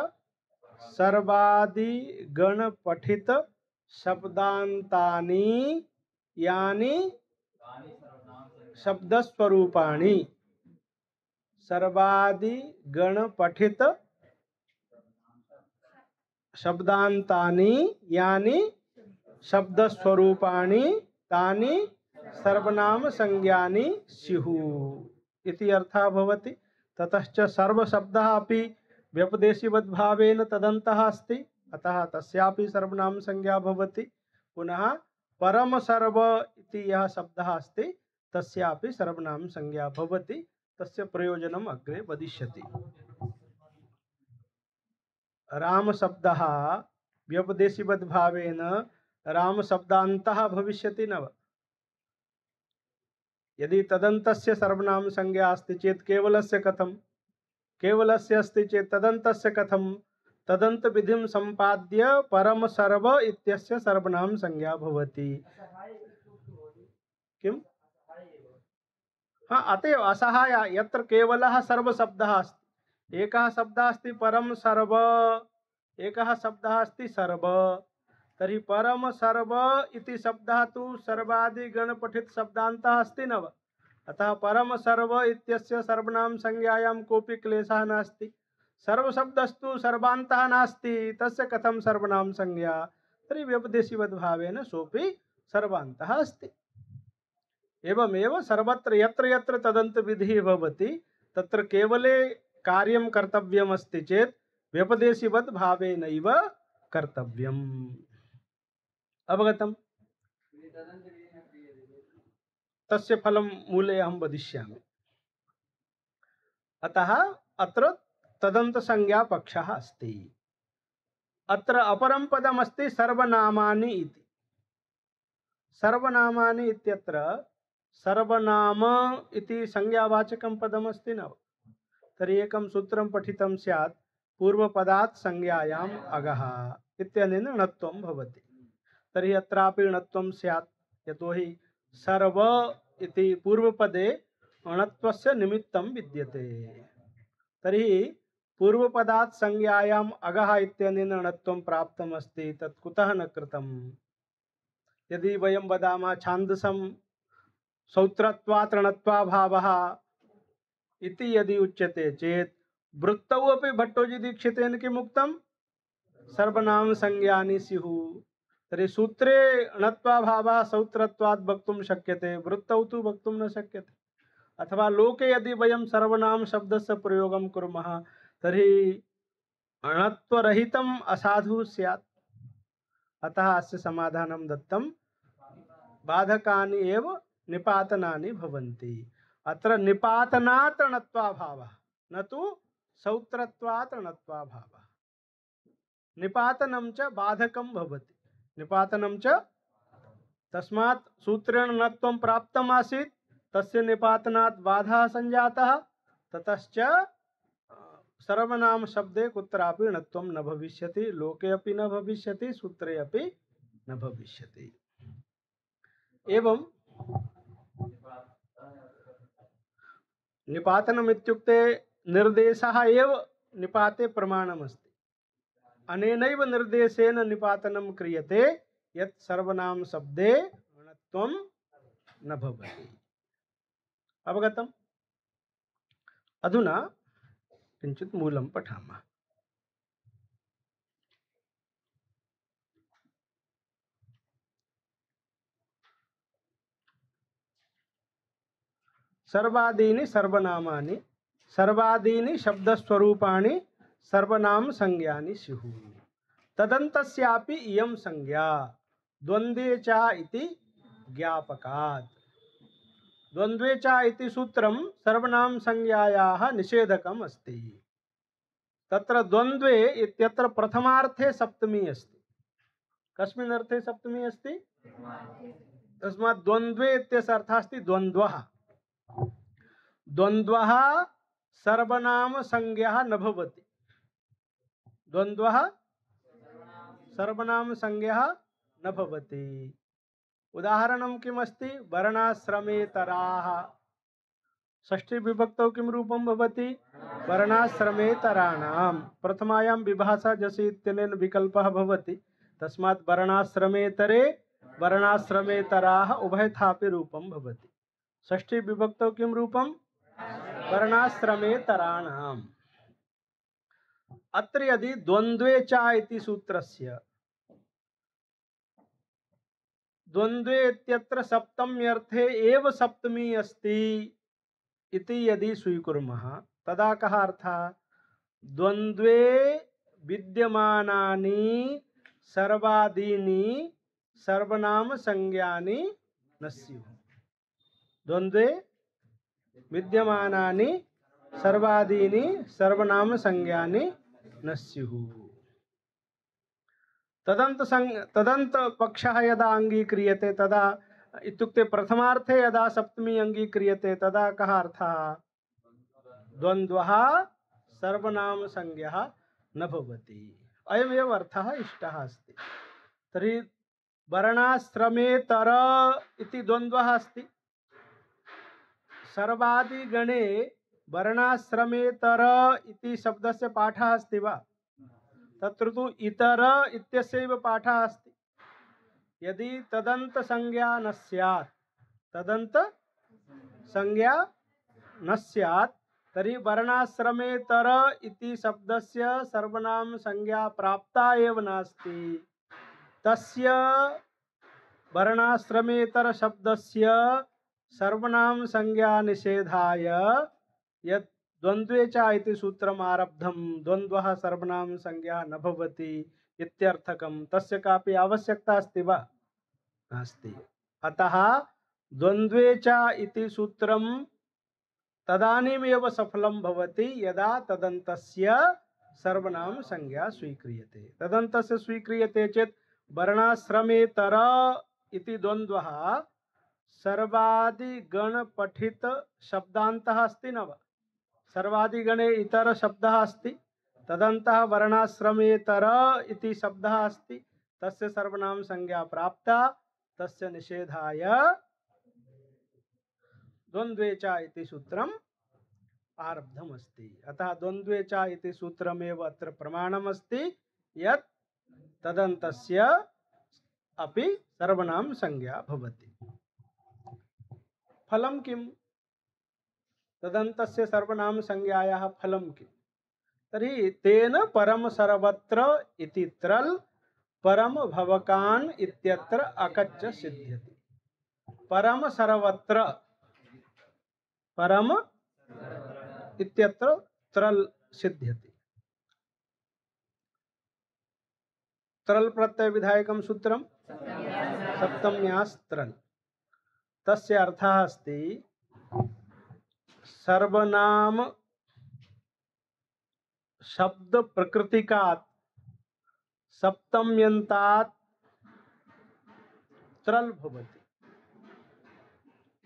सर्वादि गण पठित शब्दान्तानि यानि शब्दस्वरूपाणि। सर्वादि गण पठित शब्दान्तानि यानि शब्दस्वरूपाणि तानि सर्वनाम संज्ञानि स्युः इति अर्थः भवति। ततश्च सर्वशब्दः अपि व्यपदेशीवद्भावेन तदन्तः अस्ति, अतः तस्यापि सर्वनाम संज्ञा भवति। पुनः परम सर्व इति यः शब्दः अस्ति तस्यापि सर्वनाम संज्ञा भवति। तस्य प्रयोजनम् अग्रे वदिष्यति। राम शब्दः व्यपदेशिवद्भावेन राम शब्दान्तः भविष्यति न वा? यदि तदन्तस्य सर्वनाम संज्ञा अस्ति चेत् केवलस्य कथं? केवलस्य अस्ति चेत् तदन्तस्य कथं? तदंत विधिं संपाद्य परम सर्व इत्यस्य सर्वनाम संज्ञा भवति। किम? हाँ, अतएव असहाय यत्र केवलः सर्व शब्दः अस्ति। एकः शब्दः अस्ति परम सर्व, एकः शब्दः अस्ति सर्व। तर्हि परम सर्व इति शब्दः तु सर्वादि गण पठित शब्दान्तः अस्ति न वा? अतः परम सर्व इत्यस्य सर्वनाम संज्ञायां कोऽपि क्लेशः नास्ति। सर्वशब्दस्तु सर्वान्तः नास्ति, तस्य कथं सर्वनाम संज्ञा? तर्हि व्यपदेशिवद्भावेन सोऽपि सर्वान्तः अस्ति। एवमेव सर्वत्र यत्र यत्र तदन्त विधिः भवति तत्र केवले कार्यं कर्तव्यमस्ति चेत् व्यपदेशिवद्भावेनैव कर्तव्यम्। अवगतम्? तस्य फलं मूले अहं वदिष्यामि। अतः अत्र तदन्त संज्ञा पक्षः अस्ति। अत्र अपरं पदमस्ति सर्वनामानि इति। सर्वनामानि इत्यत्र सर्वनाम इति संज्ञावाचकं पदमस्ति न? तर्हि एकं सूत्रं पठितं स्यात् पूर्वपदात् संज्ञायाम् अगः इत्यनेन णत्वं भवति। तर्हि अत्रापि णत्वं स्यात्, यतोहि सर्व इति पूर्वपदे णत्वस्य निमित्तं विद्यते। तर्हि पूर्वपदात् संज्ञायाम् अगः इत्यनेन णत्वं प्राप्तमस्ति, तत् कुतः न कृतम्? यदि वयं वदामः छान्दसं सौत्रत्वात् णत्वाभावः इति यदि उच्यते चेत् वृत्तौ अपि भट्टोजीदीक्षितेन किम् उक्तं? सर्वनाम संज्ञानि स्युः। तर्हि सूत्रे णत्वाभावः सौत्रत्वात् वक्तुं शक्यते, वृत्तौ तु वक्तुं न शक्यते। अथवा लोके यदि वयं सर्वनाम शब्दस्य प्रयोगं कुर्मः तर्हि णत्वरहितम् असाधुः स्यात्। अतः अस्य समाधानं दत्तं बाधकानि एव निपातनानि भवन्ति। अत्र निपातनात् णत्वाभावः न तु सौत्रत्वात् णत्वाभावः। निपातनं च बाधकं भवति। निपातनं च तस्मात् सूत्रेण णत्वं प्राप्तम् आसीत्, तस्य निपातनात् बाधः संजातः, ततश्च सर्वनाम शब्दे कुत्रापि णत्वं न भविष्यति, लोके अपि न भविष्यति, सूत्रे अपि न भविष्यति। एवं निपातनम् इत्युक्ते निर्देशः एव निपाते प्रमाणमस्ति। अनेनैव निर्देशेन निपातनं क्रियते यत् सर्वनाम शब्दे णत्वं न भवति। अवगतम्? अधुना किञ्चित् मूलं पठामः। सर्वादीनि सर्वनामानि सर्वादीनि शब्दस्वरूपाणि सर्वनाम संज्ञानि स्युः। तदन्तस्यापि इयं संज्ञा द्वन्द्वे च इति ज्ञापकात्। द्वन्द्वे च इति सूत्रं सर्वनाम संज्ञायाः निषेधकम् अस्ति। तत्र द्वन्द्वे इत्यत्र प्रथमार्थे सप्तमी अस्ति। कस्मिन् अर्थे सप्तमी अस्ति? तस्मात् द्वन्द्वे इत्यस्य अर्थः अस्ति द्वन्द्वः। द्वन्द्वः सर्वनाम संज्ञा न भवति। द्वन्द्वः सर्वनाम संज्ञा न भवति। उदाहरणं किमस्ति? वर्णाश्रमेतराः। षष्ठी विभक्तौ किं रूपं भवति? वर्णाश्रमेतराणां। प्रथमायां विभाषा जसि इत्यनेन विकल्पः भवति, तस्मात् वर्णाश्रमेतरे वर्णाश्रमेतराः उभयथापि रूपं भवति। षष्ठी विभक्तौ किं रूपं? वर्णाश्रमेतराणाम्। अत्र यदि द्वन्द्वे च इति सूत्रस्य द्वन्द्वे इत्यत्र सप्तम्यर्थे एव सप्तमी अस्ति इति यदि स्वीकुर्मः तदा कः अर्थः? द्वन्द्वे विद्यमानानि सर्वादीनि सर्वनाम संज्ञानि न स्युः। द्वन्द्वे विद्यमानानि सर्वादीनि सर्वनाम संज्ञानि न स्युः। तदन्त पक्षः यदा अङ्गीक्रियते तदा इत्युक्ते प्रथमार्थे यदा सप्तमी अङ्गीक्रियते तदा कः अर्थः? द्वन्द्वः सर्वनामसंज्ञः न भवति। अयमेव अर्थः इष्टः अस्ति। तर्हि वर्णाश्रमेतर इति द्वन्द्वः अस्ति। सर्वादिगणे वर्णाश्रमेतर इति शब्दस्य पाठः अस्ति वा? तत्र तु इतर इत्यस्यैव पाठः अस्ति। यदि तदन्त संज्ञा न स्यात्, तदन्त संज्ञा न स्यात्, तर्हि वर्णाश्रमेतर इति शब्दस्य सर्वनाम संज्ञा प्राप्ता एव नास्ति। तस्य वर्णाश्रमेतर शब्दस्य सर्वनाम संज्ञा निषेधाय यत् द्वन्द्वे च इति सूत्रम् आरब्धं, द्वन्द्वः सर्वनाम संज्ञा न भवति इत्यर्थकं, तस्य कापि आवश्यकता अस्ति वा? नास्ति। अतः द्वन्द्वे च इति सूत्रं तदानीमेव सफलं भवति यदा तदन्तस्य सर्वनाम संज्ञा स्वीक्रियते। तदन्तस्य स्वीक्रियते चेत् वर्णाश्रमेतर इति द्वन्द्वः सर्वादिगण पठित शब्दान्तः अस्ति न वा? सर्वादिगणे इतर शब्दः अस्ति, तदन्तः वर्णाश्रमेतर इति शब्दः अस्ति, तस्य सर्वनाम संज्ञा प्राप्ता, तस्य निषेधाय द्वन्द्वे च इति सूत्रम् आरब्धमस्ति। अतः द्वन्द्वे च इति सूत्रमेव अत्र प्रमाणमस्ति यत् तदन्तस्य अपि सर्वनाम संज्ञा भवति। फलं किम्? तदन्तस्य सर्वनाम संज्ञायाः फलं किम्? तर्हि तेन परम सर्वत्र इति त्रल परम भवकान इत्यत्र अकच्च सिद्ध्यति। परम सर्वत्र, परम इत्यत्र त्रल सिद्ध्यति। त्रल प्रत्यय विधायकं सूत्रं सप्तम्यास्त्रल। तस्य अर्थः अस्ति सर्वनाम शब्द प्रकृतिकात् सप्तम्यन्तात् त्रल भवति।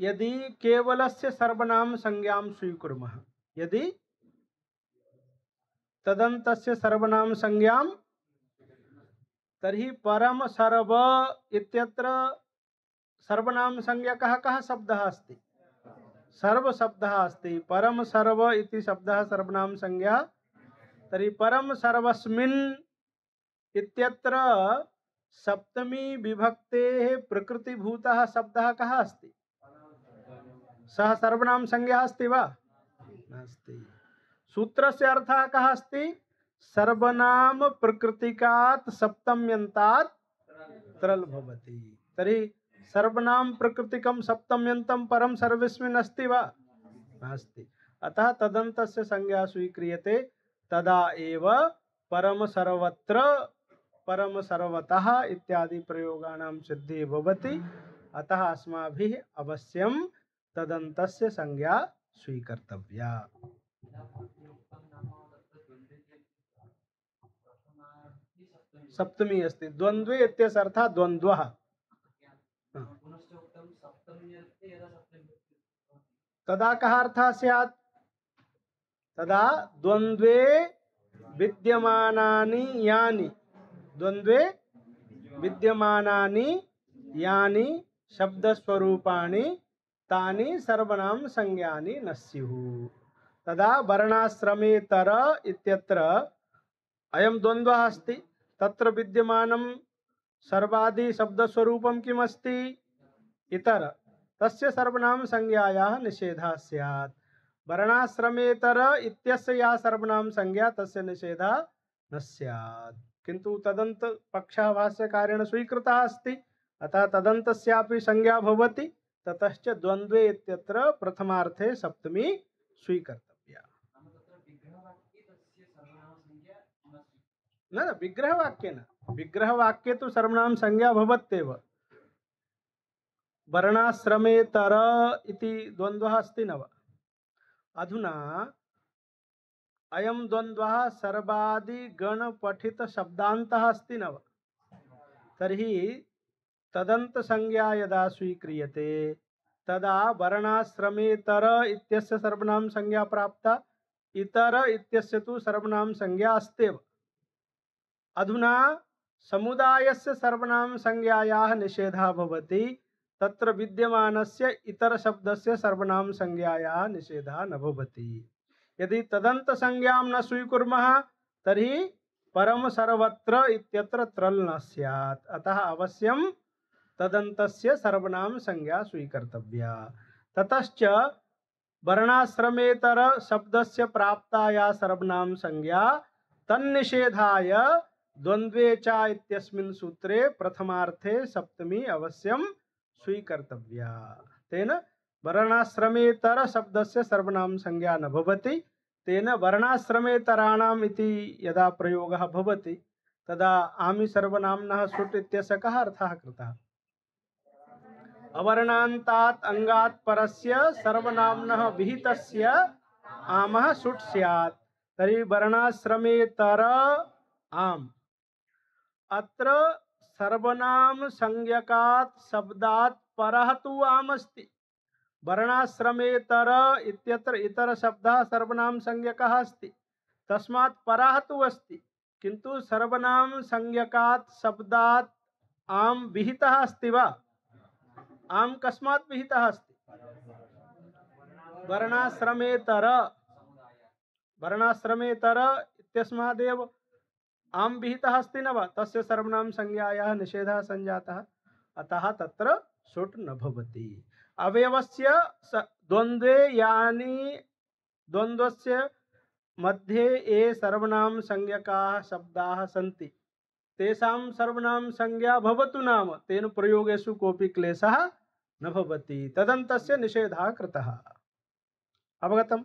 यदि केवलस्य सर्वनाम संज्ञां स्वीकुर्मः, यदि तदन्तस्य सर्वनाम संज्ञां, तर्हि परम सर्व इत्यत्र सर्वनाम संज्ञा कः शब्दः अस्ति? सर्व शब्दः अस्ति। परम सर्व इति शब्दः सर्वनाम संज्ञा। तर्हि परम सर्वस्मिन् इत्यत्र सप्तमी विभक्तेः प्रकृतिभूतः शब्दः कः अस्ति? सः सर्वनाम संज्ञा अस्ति वा? नास्ति। सूत्रस्य अर्थः कः अस्ति? सर्वनाम प्रकृतिकात् सप्तम्यन्तात् त्रल भवति। तर्हि सर्वनाम प्रकृतिकं सप्तम्यन्तं परम सर्वस्मिन् अस्ति वा? नास्ति। अतः तदन्तस्य संज्ञा स्वीक्रियते तदा एव परम सर्वत्र, परम सर्वतः इत्यादि प्रयोगानां सिद्धिः भवति। अतः अस्माभिः अवश्यं तदन्तस्य संज्ञा स्वीकर्तव्या। सप्तमी अस्ति। द्वन्द्वे इत्यस्य अर्थः द्वन्द्वः। तदा कः अर्थः स्यात्? तदा द्वन्द्वे विद्यमानानि यानि, द्वन्द्वे विद्यमानानि यानि शब्दस्वरूपाणि तानि सर्वनाम संज्ञानि न स्युः। तदा वर्णाश्रमेतर इत्यत्र अयं द्वन्द्वः अस्ति। तत्र विद्यमानं सर्वादि शब्दस्वरूपं किमस्ति? इतर। तस्य सर्वनाम संज्ञायाः निषेधः स्यात्। वर्णाश्रमेतर इत्यस्य या सर्वनाम संज्ञा तस्य निषेधः न स्यात्। किन्तु तदन्त पक्षः भाष्यकारेण स्वीकृतः अस्ति, अतः तदन्तस्यापि संज्ञा भवति। ततश्च द्वन्द्वे इत्यत्र प्रथमार्थे सप्तमी स्वीकर्तव्या। न विग्रहवाक्ये न, विग्रहवाक्ये तु सर्वनाम संज्ञा भवत्येव। वर्णाश्रमेतर इति द्वन्द्वः अस्ति न वा? अधुना अयं द्वन्द्वः सर्वादिगण पठित शब्दान्तः अस्ति न वा? तर्हि तदंत संज्ञा यदा स्वीक्रियते तदा वर्णाश्रमेतर इत्यस्य सर्वनाम संज्ञा प्राप्ता, इतर इत्यस्य तु सर्वनाम संज्ञा अस्त्येव। अधुना समुदायस्य सर्वनाम संज्ञायाः निषेधः भवति, तत्र विद्यमानस्य इतर शब्दस्य सर्वनाम संज्ञायाः निषेधः न भवति। यदि तदंत संज्ञां न स्वीकुर्मः तर्हि परम सर्वत्र इत्यत्र त्रल न स्यात्। अतः अवश्यं तदन्तस्य सर्वनाम संज्ञा स्वीकर्तव्या। ततश्च वर्णाश्रमेतर शब्दस्य प्राप्ताया सर्वनाम संज्ञा तन्निषेधाय द्वन्द्वे च इत्यस्मिन् सूत्रे प्रथमार्थे सप्तमी अवश्यं स्वीकर्तव्या। तेन वर्णाश्रमेतर शब्दस्य सर्वनाम संज्ञा न भवति। तेन वर्णाश्रमेतराणाम् इति यदा प्रयोगः भवति तदा आमि सर्वनाम्नः सुट् इत्यस्य कः अर्थः कृतः? अवर्णान्तात् अंगात् परस्य सर्वनाम्नः विहितस्य आमः सुट् स्यात्। तर्हि वर्णाश्रमेतर आम्। अत्र सर्वनाम संज्ञकात् शब्दात् परः तु आम् अस्ति। वर्णाश्रमेतर इत्यत्र इतर शब्दः सर्वनाम संज्ञकः अस्ति, तस्मात् परः तु अस्ति, किन्तु सर्वनाम संज्ञकात् शब्दात् आम् विहितः अस्ति वा? आम् कस्मात् विहितः अस्ति? वर्णाश्रमेतर। वर्णाश्रमेतर इत्यस्मादेव आम् विहितः अस्ति न वा? तस्य सर्वनाम संज्ञायाः निषेधः संजातः, अतः तत्र सुट् न भवति। अवयवस्य द्वन्द्वे यानि द्वन्द्वस्य मध्ये ये सर्वनाम संज्ञकाः शब्दाः सन्ति तेषां सर्वनाम संज्ञा भवतु नाम तेन प्रयोगेषु कोऽपि क्लेशः न भवति। तदन्तस्य निषेधः कृतः। अवगतम्?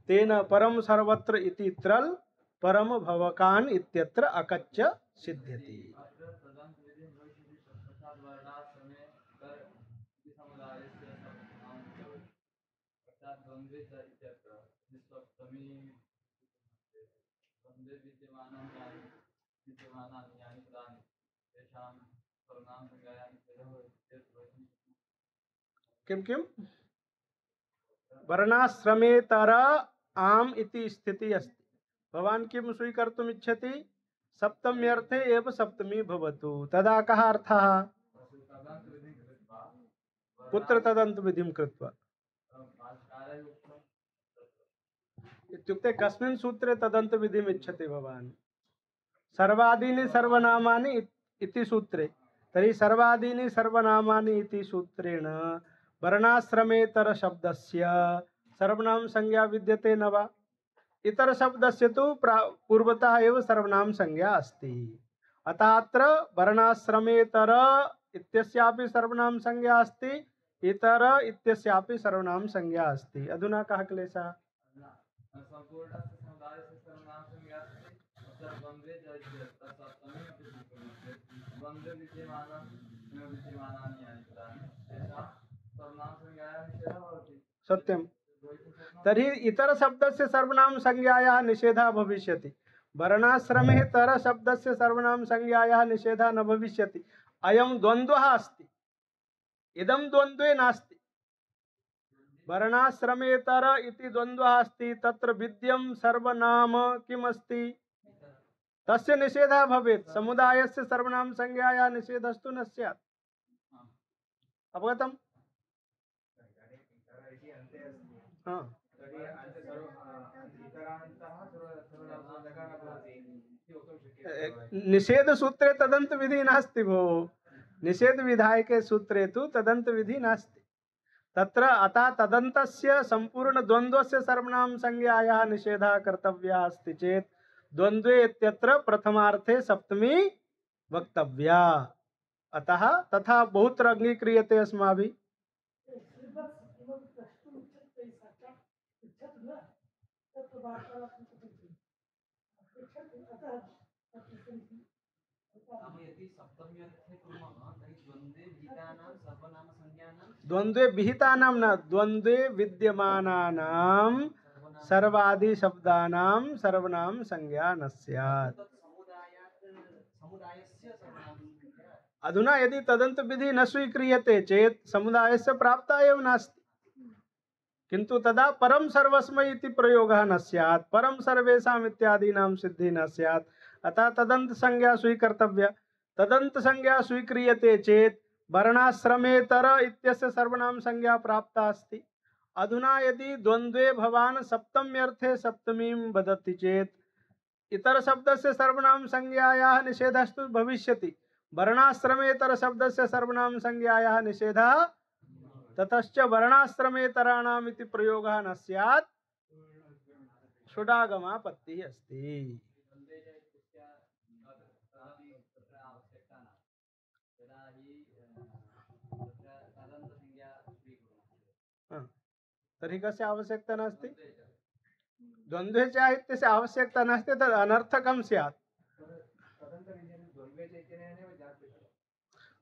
तेन परम सर्वत्र इति त्रल परम भवकान इत्यत्र अकच्च सिद्ध्यति। किं किं? वर्णाश्रमेतर आम् इति स्थितिः अस्ति। भवान् किं स्वीकर्तुम् इच्छति? सप्तम्यर्थे एव सप्तमी भवतु। तदा कः अर्थः? कुत्र तदन्त विधिं कृत्वा? इत्युक्ते कस्मिन् सूत्रे तदन्त विधिम् इच्छति भवान्? सर्वादीनि सर्वनामानि इति सूत्रे। तर्हि सर्वादीनि सर्वनामानि इति सूत्रेण वर्णाश्रमेतर शब्दस्य सर्वनाम संज्ञा विद्यते न वा? इतर शब्दस्य तु पूर्वतः एव सर्वनाम संज्ञा अस्ति। अतः अत्र वर्णाश्रमेतर इत्यस्यापि सर्वनाम संज्ञा अस्ति, इतर इत्यस्यापि सर्वनाम संज्ञा अस्ति। अधुना कः क्लेशः? सत्यं। तर्हि इतर शब्दस्य सर्वनाम संज्ञायाः निषेधः भविष्यति। वर्णाश्रमेतर शब्दस्य सर्वनाम संज्ञायाः निषेधः न भविष्यति। अयं द्वन्द्वः अस्ति, इदं द्वन्द्वे नास्ति। वर्णाश्रमेतर इति द्वन्द्वः अस्ति, तत्र विद्यं सर्वनाम किम् अस्ति? तस्य निषेधः भवेत्। समुदायस्य सर्वनाम संज्ञायाः निषेधस्तु न स्यात्। अवगतम्? निषेध सूत्रे तदंत विधि नास्ति भो। निषेध विधायके सूत्रे तु तदंत विधि नास्ति। तत्र अतः तदन्तस्य संपूर्ण द्वन्द्वस्य सर्वनाम संज्ञायाः निषेधः कर्तव्यः अस्ति चेत् द्वन्द्वे इत्यत्र प्रथमार्थे सप्तमी वक्तव्या। अतः तथा बहुत्र अंगीक्रियते अस्माभिः। द्वन्द्वे विहितानां न, द्वन्द्वे विद्यमानानां सर्वादि शब्दानां सर्वनाम संज्ञा न स्यात्। अधुना यदि तदंत विधि न स्वीक्रियते चेत समुदायस्य प्राप्ता एव नास्ति, किंतु तदा परम सर्वस्मै इति प्रयोगः न स्यात्, परम सर्वेषाम् इत्यादीनां सिद्धि न स्यात्। अतः तदंत संज्ञा स्वीकर्तव्या। तदंत संज्ञा स्वीक्रियते चेत वर्णाश्रमेतर इत्यस्य सर्वनाम संज्ञा प्राप्ता अस्ति। अधुना यदि द्वंद्वे भवान् सप्तम्यर्थे सप्तमीं वदति चेत इतर शब्दस्य सर्वनाम संज्ञायाः निषेधस्तु भविष्यति। वर्णाश्रमेतर शब्दस्य सर्वनाम संज्ञायाः निषेधः ततश्च वर्णाश्रमेतराणाम् इति प्रयोगः न स्यात्, षडागमापत्तिः अस्ति। तर्हि कस्य आवश्यकता नास्ति? द्वन्द्वे च इत्यस्य आवश्यकता नास्ति, तद् अनर्थकं स्यात्।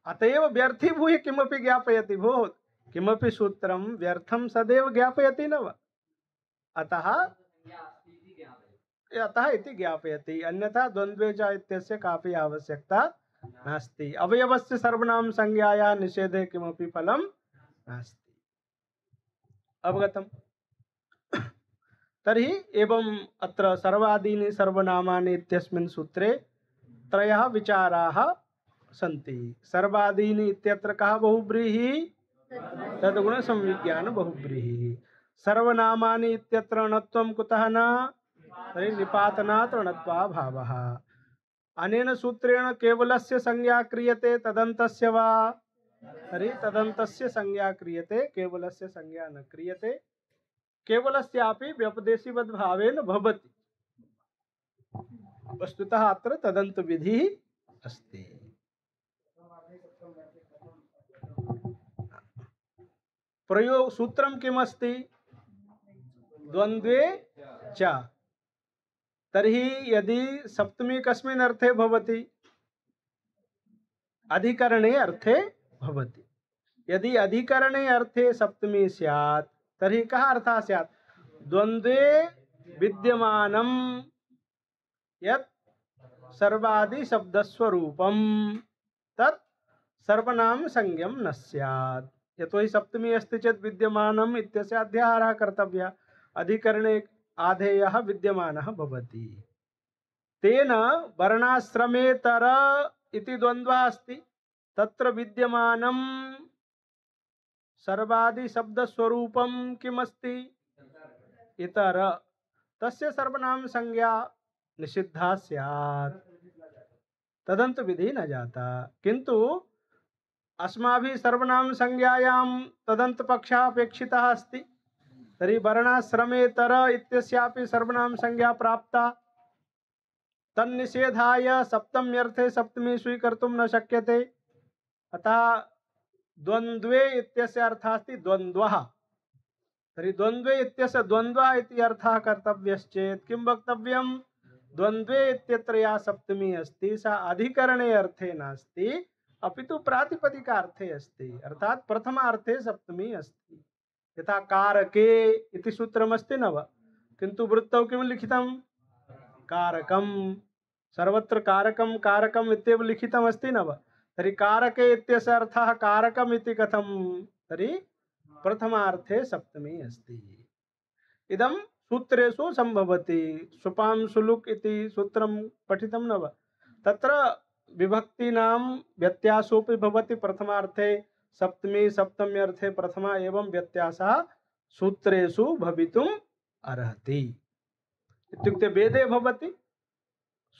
अतएव व्यर्थीभूय किमपि ज्ञापयति भोः, किमपि सूत्रं व्यर्थं सदैव ज्ञापयति न वा? अतः इति ज्ञापयति, अन्यथा द्वन्द्वे च इत्यस्य कापि आवश्यकता नास्ति। अवयवस्य सर्वनाम संज्ञायाः निषेधे किमपि फलं नास्ति। अवगतम्? तर्हि एवं अत्र सर्वादीनि सर्वनामानि इत्यस्मिन् सूत्रे त्रयः विचाराः सन्ति। सर्वादीनि इत्यत्र कः बहुव्रीहिः? तद्गुण संविज्ञान बहुव्रीहिः। सर्वनामानि इत्यत्र णत्वं कुतः न? तर्हि निपातनात् णत्वा भावः। अनेन सूत्रेण केवलस्य संज्ञा क्रियते तदन्तस्य वा? तर्हि तदन्तस्य संज्ञा क्रियते, केवलस्य संज्ञा न क्रियते। केवलस्यापि व्यपदेशीवद्भावेन भवति। वस्तुतः अत्र तदन्त विधिः अस्ति। प्रयोग सूत्रं किमस्ति? द्वन्द्वे च। तर्हि यदि सप्तमी कस्मिन् अर्थे भवति? अधिकरणे अर्थे भवति। यदि अधिकरणे अर्थे सप्तमी स्यात् तर्हि कः अर्थः स्यात्? द्वन्द्वे विद्यमानं यत् सर्वादि शब्दस्वरूपं तत् सर्वनाम संज्ञं न स्यात्। यतोहि सप्तमी अस्ति चेत् विद्यमानम् इत्यस्य अध्याहारः कर्तव्यः। अधिकरणे आधेयः विद्यमानः भवति। तेन वर्णाश्रमेतर इति द्वन्द्वः अस्ति, तत्र विद्यमानं सर्वादि शब्दस्वरूपं किमस्ति? इतर। तस्य सर्वनाम संज्ञा निषिद्धा स्यात्, तदंत विधि न जाता। किंतु अस्माभिः सर्वनाम संज्ञायां तदंत पक्षः अपेक्षितः अस्ति। तर्हि वर्णाश्रमेतर इत्यस्यापि सर्वनाम संज्ञा प्राप्ता। तन्निषेधाय सप्तम्यर्थे सप्तमी स्वीकर्तुं न शक्यते। अतः द्वन्द्वे इत्यस्य अर्थः अस्ति द्वन्द्वः। तर्हि द्वन्द्वे इत्यस्य द्वन्द्वः इति अर्थः कर्तव्यश्चेत् किं वक्तव्यं? द्वन्द्वे इत्यत्र या सप्तमी अस्ति सा अधिकरणे अर्थे नास्ति, अपितु प्रातिपदिकार्थे अस्ति। अर्थात् प्रथमार्थे सप्तमी अस्ति। यथा कारके इति सूत्रमस्ति न वा? किन्तु वृत्तौ किं लिखितं? कारकं। सर्वत्र कारकं कारकम् इत्येव लिखितमस्ति न वा? तर्हि कारके इत्यस्य अर्थः कारकम् इति कथं? तर्हि प्रथमार्थे सप्तमी अस्ति। इदं सूत्रेषु संभवति। सुपां सुलुक् इति सूत्रं पठितं न वा? तत्र विभक्तीनां व्यत्यासोऽपि भवति। प्रथमार्थे सप्तमी, सप्तम्यर्थे प्रथमा, एवं व्यत्यासः सूत्रेषु भवितुम् अर्हति। इत्युक्ते वेदे भवति,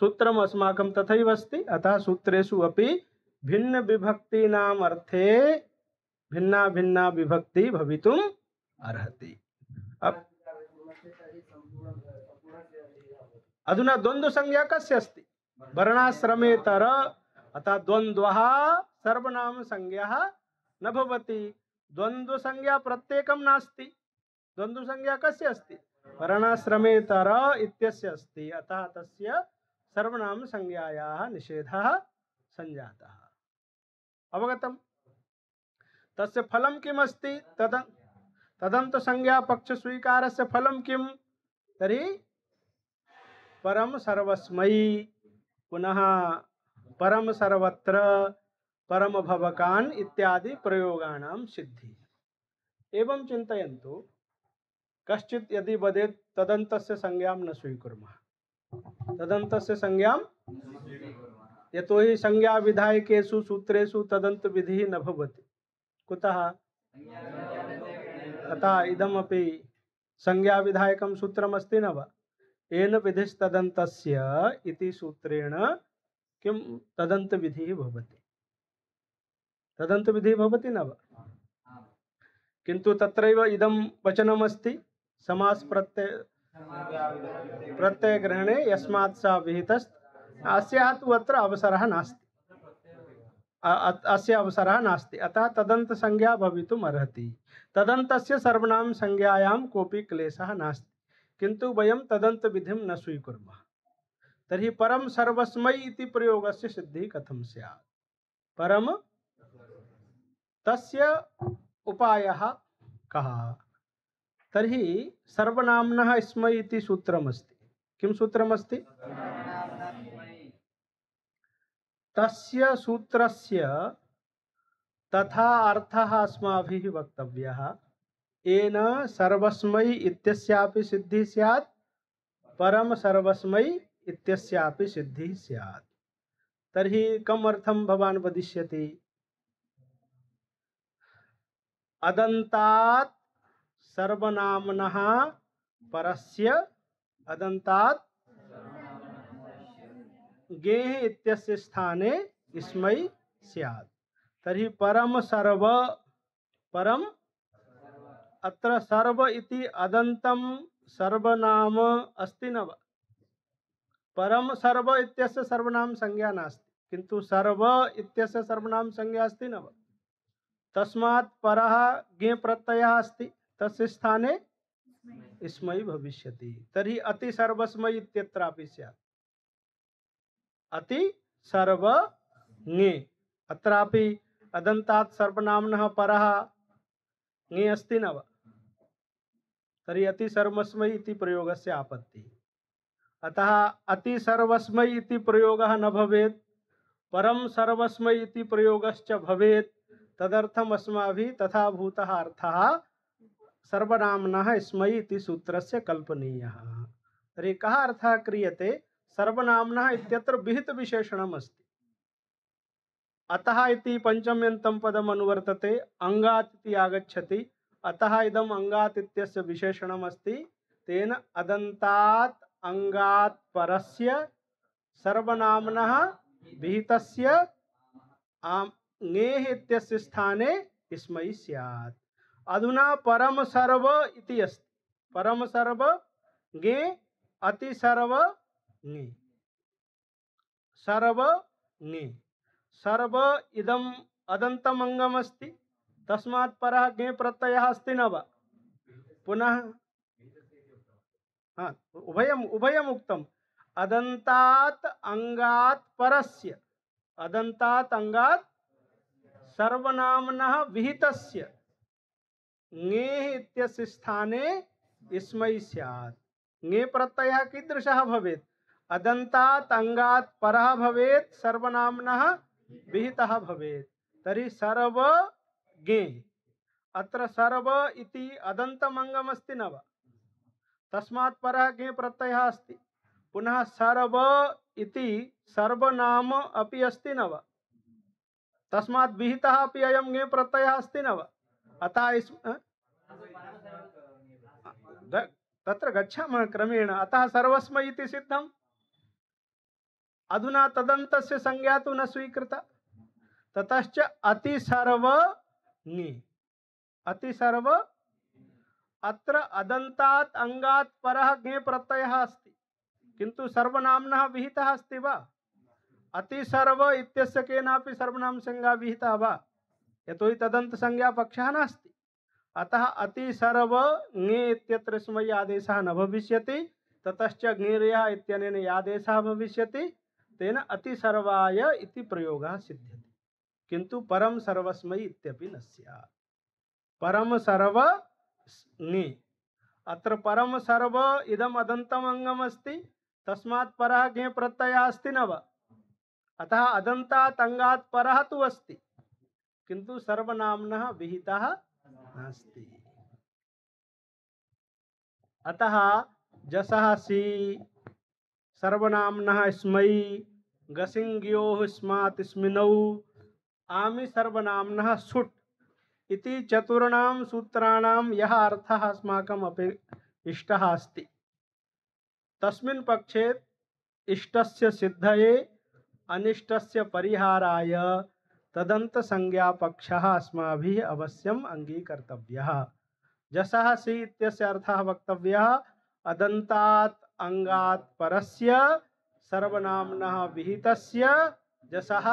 सूत्रम् अस्माकं तथैव अस्ति। अतः सूत्रेषु अपि भिन्न विभक्तीनाम् अर्थे भिन्ना भिन्ना विभक्ति भवितुम् अर्हति। अब अधुना द्वन्द्व संज्ञा कस्य अस्ति? वर्णाश्रमेतर। अतः द्वन्द्वः सर्वनाम संज्ञा न भवति। द्वन्द्व संज्ञा प्रत्येकं नास्ति। द्वन्द्व संज्ञा कस्य अस्ति? वर्णाश्रमेतर इत्यस्य अस्ति। अतः तस्य सर्वनाम संज्ञायाः निषेधः संजातः। अवगतम्? तस्य फलं किम् अस्ति? तदन्त संज्ञा पक्ष स्वीकारस्य फलं किम्? तर्हि परम सर्वस्मै, पुनः परम सर्वत्र, परम भवकान इत्यादि प्रयोगाणां सिद्धि। एवं चिन्तयन्तु, कश्चित् यदि वदेत् तदन्तस्य संज्ञां न स्वीकुर्मः, तदन्तस्य संज्ञां, यतोहि संज्ञा विधायकेषु सूत्रेषु तदन्त विधिः न भवति। कुतः? अतः इदमपि संज्ञा विधायकं सूत्रमस्ति न वा? येन विधिस्तदन्तस्य इति सूत्रेण किं तदन्त विधिः भवति, तदन्त विधिः भवति न वा? किन्तु तत्रैव इदं वचनमस्ति, समास प्रत्यय ग्रहणे यस्मात् सा विहितस्त, अस्याः तु अत्र अवसरः नास्ति, अस्य अवसरः नास्ति। अतः तदन्त संज्ञा भवितुम् अर्हति। तदन्तस्य सर्वनाम संज्ञायां कोऽपि क्लेशः नास्ति, किन्तु वयं तदन्त विधिं न स्वीकुर्मः। तर्हि परम सर्वस्मै इति प्रयोगस्य सिद्धिः कथं स्यात्? परम तस्य उपायः कः? तर्हि सर्वनाम्नः स्मै इति सूत्रमस्ति। किं सूत्रमस्ति? तस्य सूत्रस्य तथा अर्थः अस्माभिः वक्तव्यः, येन सर्वस्मै इत्यस्यापि सिद्धिः स्यात्, परम सर्वस्मै इत्यस्यापि सिद्धिः स्यात्। तर्हि कम् अर्थं भवान् वदिष्यति? अदन्तात् सर्वनाम्नः परस्य अदन्तात् गेः इत्यस्य स्थाने स्मै स्यात्। तर्हि परम सर्व, परम अत्र सर्व इति अदन्तं सर्वनाम अस्ति न वा? परम सर्व इत्यस्य सर्वनाम संज्ञा नास्ति, किन्तु सर्व इत्यस्य सर्वनाम संज्ञा अस्ति न वा? तस्मात् परः गे प्रत्ययः अस्ति, तस्य स्थाने स्मै भविष्यति। तर्हि अति सर्वस्मै इत्यत्रापि स्यात्, अति सर्व ङे, अत्रापि अदन्तात् सर्वनाम्नः परः ङे अस्ति न वा? तर्हि अति सर्वस्मै इति प्रयोगस्य आपत्तिः। अतः अति सर्वस्मै इति प्रयोगः न भवेत्, परम सर्वस्मै इति प्रयोगश्च भवेत्। तदर्थम् अस्माभिः तथा भूतः अर्थः सर्वनाम्नः स्मै इति सूत्रस्य कल्पनीयः। तर्हि कः अर्थः क्रियते? सर्वनाम्नः इत्यत्र विहित विशेषणम् अस्ति। अतः इति पंचम्यन्तं पदम् अनुवर्तते, अंगात् इति आगच्छति, अतः इदम् अंगात् इत्यस्य विशेषणम् अस्ति। तेन अदन्तात् अंगात् परस्य सर्वनाम्नः विहितस्य ङेः इत्यस्य स्थाने स्मै स्यात्। अधुना परम सर्व इति अस्ति, परम सर्व ङे, अति सर्व ङे, सर्व ङे, सर्व इदम् अदन्तम् अंगम् अस्ति, तस्मात् परः ङे प्रत्ययः अस्ति न वा? पुनः उभयम् उभयम् उक्तम्। अदन्तात् अंगात् परस्य, अदन्तात् अंगात् सर्वनाम्नः विहितस्य ङेः इत्यस्य स्थाने स्मै स्यात्। ङे प्रत्ययः कीदृशः भवेत्? अदन्तात् अंगात् परः भवेत्, सर्वनाम्नः विहितः भवेत्। तर्हि सर्व ङे, अत्र सर्व इति अदन्तम् अंगम् अस्ति न वा? तस्मात् परः ङे प्रत्ययः अस्ति। पुनः सर्व इति सर्वनाम अपि अस्ति न वा? तस्मात् विहितः अपि अयं ङे प्रत्ययः अस्ति न वा? अतः तत्र गच्छामः क्रमेण। अतः सर्वस्मै इति सिद्धम्। अधुना तदन्तस्य संज्ञा तु न स्वीकृता। ततश्च अति सर्व ङे, अति सर्व, अत्र अदन्तात् अंगात् परः ङे प्रत्ययः अस्ति, किन्तु सर्वनाम्नः विहितः अस्ति वा? अति सर्व इत्यस्य केनापि सर्वनाम संज्ञा विहिता वा? यतोहि तदन्त संज्ञा पक्षः नास्ति। अतः अति सर्व ङे इत्यत्र स्मै आदेशः न भविष्यति। ततश्च ङेर्यः इत्यनेन आदेशः भविष्यति। तेन अति सर्वाय इति प्रयोगः सिद्ध्यति, किन्तु परम सर्वस्मै इत्यपि न स्यात्। परम सर्व ङे, अत्र परम सर्व इदम् अदन्तम् अंगम् अस्ति, तस्मात् परः ङे प्रत्ययः अस्ति न वा? अतः अदन्तात् अंगात् परः तु अस्ति, किन्तु सर्वनाम्नः विहितः नास्ति। अतः जसः सी सर्वनाम्नः स्मै गसिङ्ग्योः स्मात् स्मिनौ आमि सर्वनाम्नः सुट् इति चतुर्णां सूत्राणां यः अर्थः अस्माकम् इष्टः अस्ति, तस्मिन् पक्षे इष्टस्य सिद्धये अनिष्टस्य परिहाराय तदन्तसंज्ञापक्षः अस्माभिः अवश्यम् अङ्गीकर्तव्यः। जसः सी इत्यस्य अर्थः वक्तव्यः अदन्तात् अंगात् परस्य सर्वनाम्नः विहितस्य जसः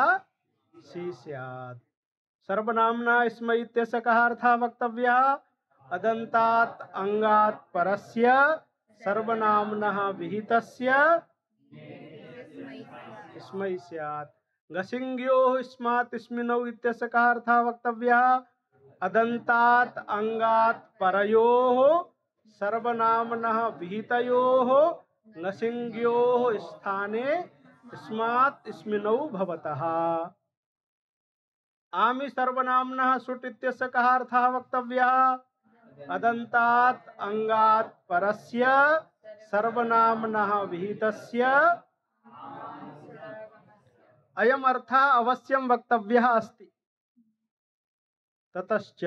सी स्यात्। सर्वनाम्ना स्मै इत्यस्य कः अर्थः वक्तव्यः अदन्तात् अंगात् परस्य सर्वनाम्नः विहितस्य स्मै स्यात्। गसिङ्ग्योः स्मात् स्मिनौ इत्यस्य कः अर्थः वक्तव्यः अदन्तात् अंगात् परयोः सर्वनाम्नः विहितयोः गसिङ्ग्योः स्थाने स्मात् स्मिनौ भवतः। आमि सर्वनाम्नः सुट् इत्यस्य कः अर्थः वक्तव्यः अदन्तात् अंगात् परस्य सर्वनाम्नः विहितस्य। अयम् अर्थः अवश्यं वक्तव्यः अस्ति। ततश्च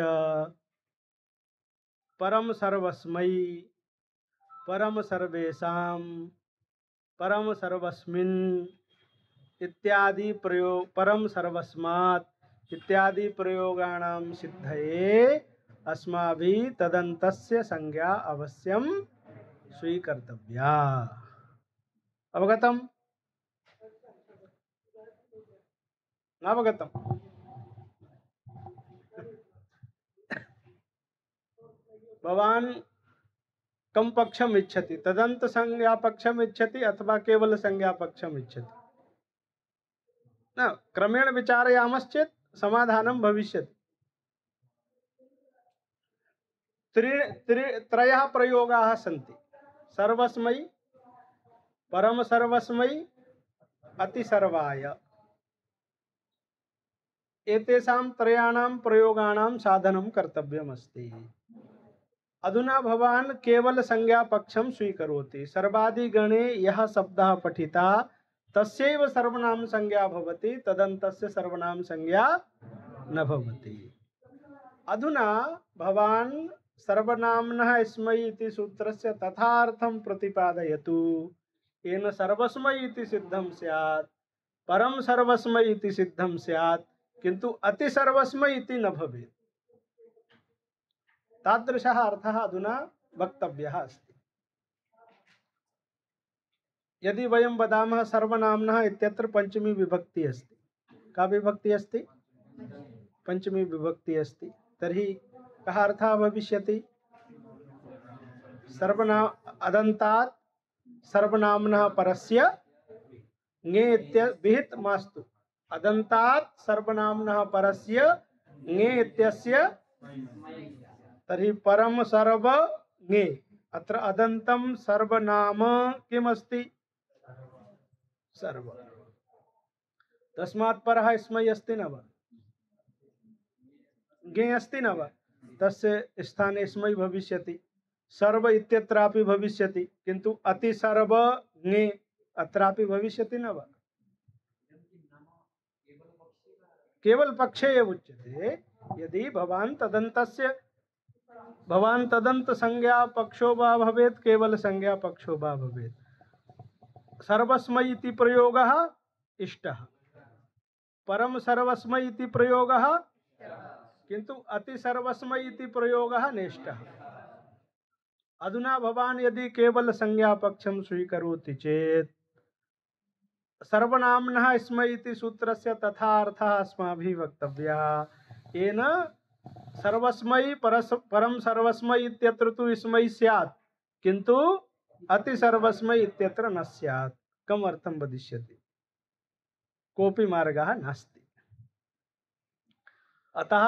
परम सर्वस्मै परम सर्वेषां परम सर्वस्मिन् इत्यादि प्रयोग परम सर्वस्मात् इत्यादि प्रयोगाणां सिद्धये अस्माभिः तदन्तस्य संज्ञा अवश्यं स्वीकर्तव्या। अवगतम्? अवगतम्? भवान् कम पक्षम इच्छति, तदंत संज्ञा पक्षम इच्छति अथवा केवल संज्ञा पक्षम इच्छति? न क्रमेण विचारयामश्चेत् समाधानं भविष्यति। त्रयः प्रयोगाः सन्ति, सर्वस्मै, परम सर्वस्मै, अतिसर्वाय। एतेषां त्रयाणां प्रयोगाणां साधनं कर्तव्यमस्ति। अधुना भवान् केवल संज्ञा पक्षं स्वीकरोति। सर्वादिगणे यः शब्दः पठितः तस्यैव सर्वनाम संज्ञा भवति, तदन्तस्य सर्वनाम संज्ञा न भवति। अधुना भवान् सर्वनाम्नः स्मै इति सूत्रस्य तथार्थं प्रतिपादयतु। येन सर्वस्मै इति सिद्धं स्यात्, परम सर्वस्मै इति सिद्धं स्यात्, किन्तु अति सर्वस्मै इति न भवेत्। तादृशः अर्थः अधुना वक्तव्यः अस्ति। यदि वयं वदामः सर्वनाम्नः इत्यत्र पंचमी विभक्ति अस्ति, का विभक्ति अस्ति? पंचमी विभक्ति अस्ति, तर्हि कः अर्थः भविष्यति? सर्वनाम अदन्तात् सर्वनाम्नः परस्य ङे इत्य विहित मास्तु, अदन्तात् सर्वनाम्नः परस्य ङे इत्यस्य, तर्हि परम सर्व ङे। अत्र अदन्तं सर्वनाम किमस्ति? सर्व। तस्मात् परः स्मै अस्ति न वा? ङे अस्ति न वा? तस्य स्थाने स्मै भविष्यति। सर्व इत्यत्रापि भविष्यति, किन्तु अति सर्व ङे अत्रापि भविष्यति न वा? केवल पक्षे एव उच्यते। यदि भवान् तदन्त संज्ञा पक्षो वा भवेत्, केवल संज्ञा पक्षो वा भवेत्। सर्वस्मै इति प्रयोगः इष्टः, परम सर्वस्मै इति प्रयोगः, किन्तु अति सर्वस्मै इति प्रयोगः नेष्टः। अधुना भवान् यदि केवल संज्ञा पक्षं स्वीकरोति चेत् सर्वनाम्नः स्मै इति सूत्रस्य तथा अर्थः अस्माभिः वक्तव्यः। येन सर्वस्मै परम सर्वस्मै इत्यत्र तु स्मै स्यात्, किन्तु अति सर्वस्मै इत्यत्र न स्यात्। कम अर्थं वदिष्यति? कोऽपि मार्गः नास्ति। अतः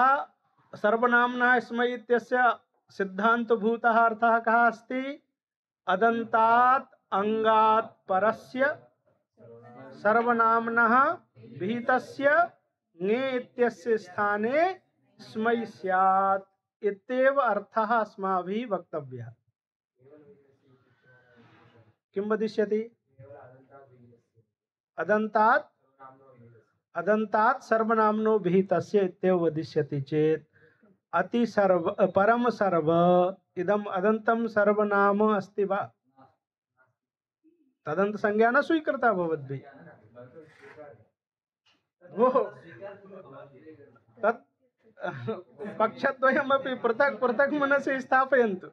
सर्वनाम्नः स्मै इत्यस्य सिद्धान्तभूतः अर्थः कः अस्ति? अदन्तात् अंगात् परस्य सर्वनाम्नः विहितस्य ङे इत्यस्य स्थाने स्मै स्यात् इत्येव अर्थः अस्माभिः वक्तव्यः। किं वदिष्यति? अदन्तात् अदन्तात् सर्वनाम्नो विहितस्य इत्येव वदिष्यति चेत् अति सर्व परम सर्व इदम अदन्तं सर्वनाम अस्ति वा? तदन्त संज्ञा न स्वीकृता भवद्भिः। तत् पक्षद्वयमपि पृथक् पृथक् मनसि स्थापयन्तु।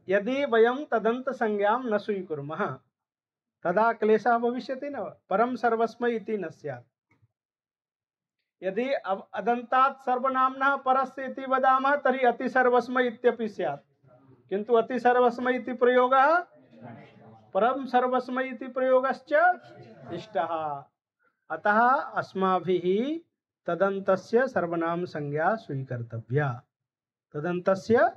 यदि वयं तदन्त संज्ञां न स्वीकुर्मः तदा क्लेशः भविष्यति न वा? परम सर्वस्मै इति न स्यात्। यदि अदन्तात् सर्वनाम्नः परस्य इति वदामः तर्हि अति सर्वस्मै इत्यपि स्यात्, किन्तु अति सर्वस्मै इति प्रयोगः परम सर्वस्मै इति प्रयोगश्च इष्टः। अतः अस्माभिः तदन्तस्य सर्वनाम संज्ञा स्वीकर्तव्या। तदन्तस्य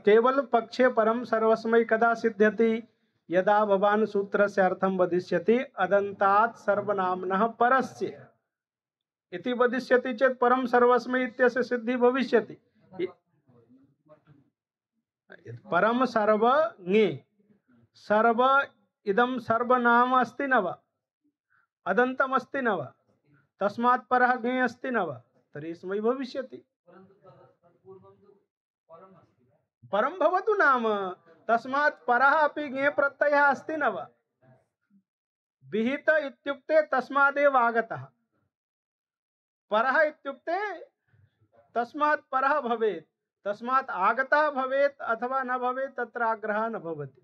केवल पक्षे परम सर्वस्मै कदा सिद्ध्यति? यदा भवान् सूत्रस्य अर्थं वदिष्यति अदन्तात् सर्वनाम्नः परस्य इति वदिष्यति चेत् परम सर्वस्मै इत्यस्य सिद्धि भविष्यति। परम सर्व ङे सर्व इदं सर्वनाम अस्ति न वा? अदन्तम् अस्ति न वा? तस्मात् परः ङे अस्ति न वा? तर्हि स्मै भविष्यति। परम भवतु नाम, तस्मात् परः अपि ङे प्रत्ययः अस्ति न वा? विहित इत्युक्ते तस्मादेव आगतः। परः इत्युक्ते तस्मात् परः भवेत्, तस्मात् आगतः भवेत् अथवा न भवेत् तत्र आग्रहः न भवति।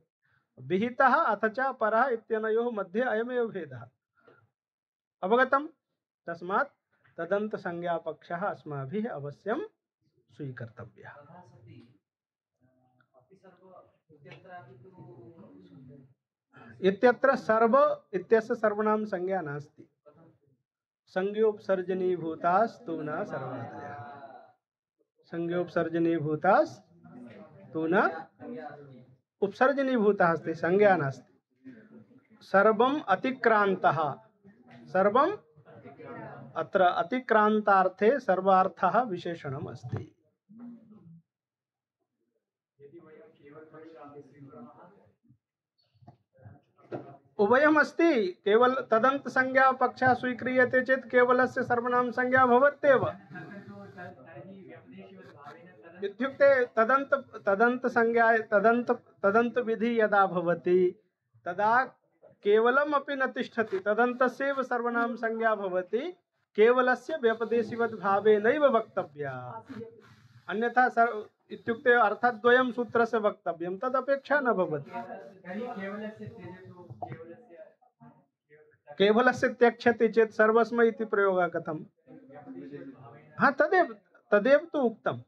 विहितः अथ च परः इत्यनयोः मध्ये अयमेव भेदः। अवगतम्? तस्मात् तदन्त संज्ञा पक्षः अस्माभिः अवश्यं स्वीकर्तव्यः। इत्यत्र सर्व इत्यस्य सर्वनाम संज्ञा नास्ति। संज्ञोपसर्जनीभूतास्तु न सर्वनादयः। संज्ञोपसर्जनीभूतास्तु न उपसर्जनीभूतः अस्ति, संज्ञा नास्ति। सर्वम् अतिक्रान्तः, सर्वम् अत्र अतिक्रान्तार्थे सर्वार्थः विशेषणम् अस्ति। उभयम् अस्ति। केवल तदन्त संज्ञा पक्षः स्वीक्रियते चेत् केवलस्य सर्वनाम संज्ञा भवत्येव। इत्युक्ते तदन्त संज्ञा तदन्त विधि यदा भवति तदा केवलम् अपि न तिष्ठति, तदन्तस्यैव सर्वनाम संज्ञा भवति। केवलस्य व्यपदेशिवद् भावेनैव वक्तव्या। अन्यथा इत्युक्ते अर्थद्वयं सूत्रस्य वक्तव्यं, तदपेक्षा न भवति। केवलस्य त्यक्ष्यति चेत् सर्वस्मै इति प्रयोगः कथम्? हाँ, तदेव तु उक्तम्।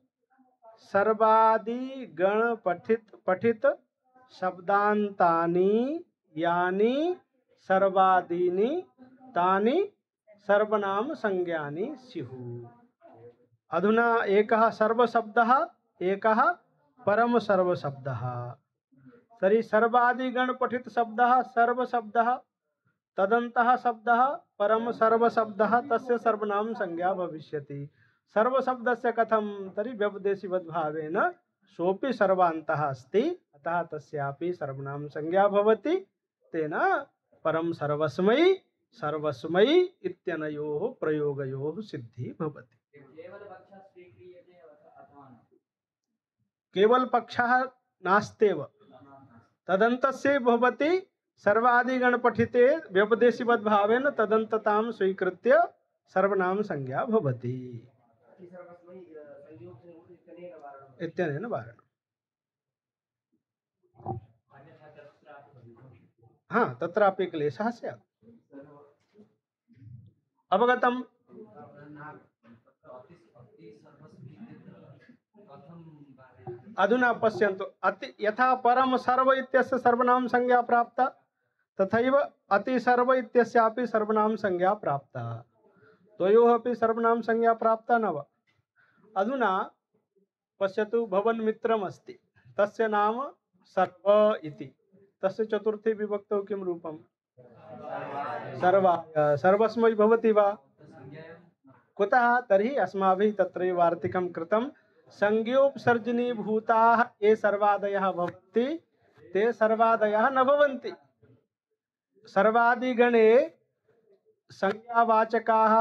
सर्वादि गण पठित शब्दान्तानि यानि सर्वादीनि तानि सर्वनाम संज्ञानि स्युः। अधुना एकः सर्वशब्दः, एकः परम सर्वशब्दः। तर्हि सर्वादिगण पठित शब्दः सर्वशब्दः, तदन्तः शब्दः परम सर्वशब्दः, तस्य सर्वनाम संज्ञा भविष्यति। सर्वशब्दस्य कथं? तर्हि व्यपदेशिवद्भावेन सोऽपि सर्वान्तः अस्ति, अतः तस्यापि सर्वनाम संज्ञा भवति। तेन परम सर्वस्मै सर्वस्मै इत्यनयोः प्रयोगयोः सिद्धि भवति। केवल पक्षः नास्त्येव, तदन्तस्य भवति। सर्वादिगण पठिते व्यपदेशिवद्भावेन तदन्ततां स्वीकृत्य सर्वनाम संज्ञा भवति इत्यनेन वारणम्। हाँ, तत्रापि क्लेशः स्यात्। अवगतम्? अधुना पश्यन्तु। यथा परम सर्व इत्यस्य सर्वनाम संज्ञा प्राप्ता, तथैव अति सर्व इत्यस्यापि सर्वनाम संज्ञा प्राप्ता। द्वयोः अपि सर्वनाम संज्ञा प्राप्ता न वा? अधुना पश्यतु, भवन् मित्रम् अस्ति, तस्य नाम सर्व इति तस्य चतुर्थी विभक्तौ किं रूपं सर्वाय सर्वस्मै भवति वा कुतः तर्हि अस्माभिः तत्रैव वार्तिकं कृतं संज्ञोपसर्जनीभूताः ये सर्वादयः भवन्ति ते सर्वादयः न भवन्ति सर्वादिगणे संज्ञावाचकाः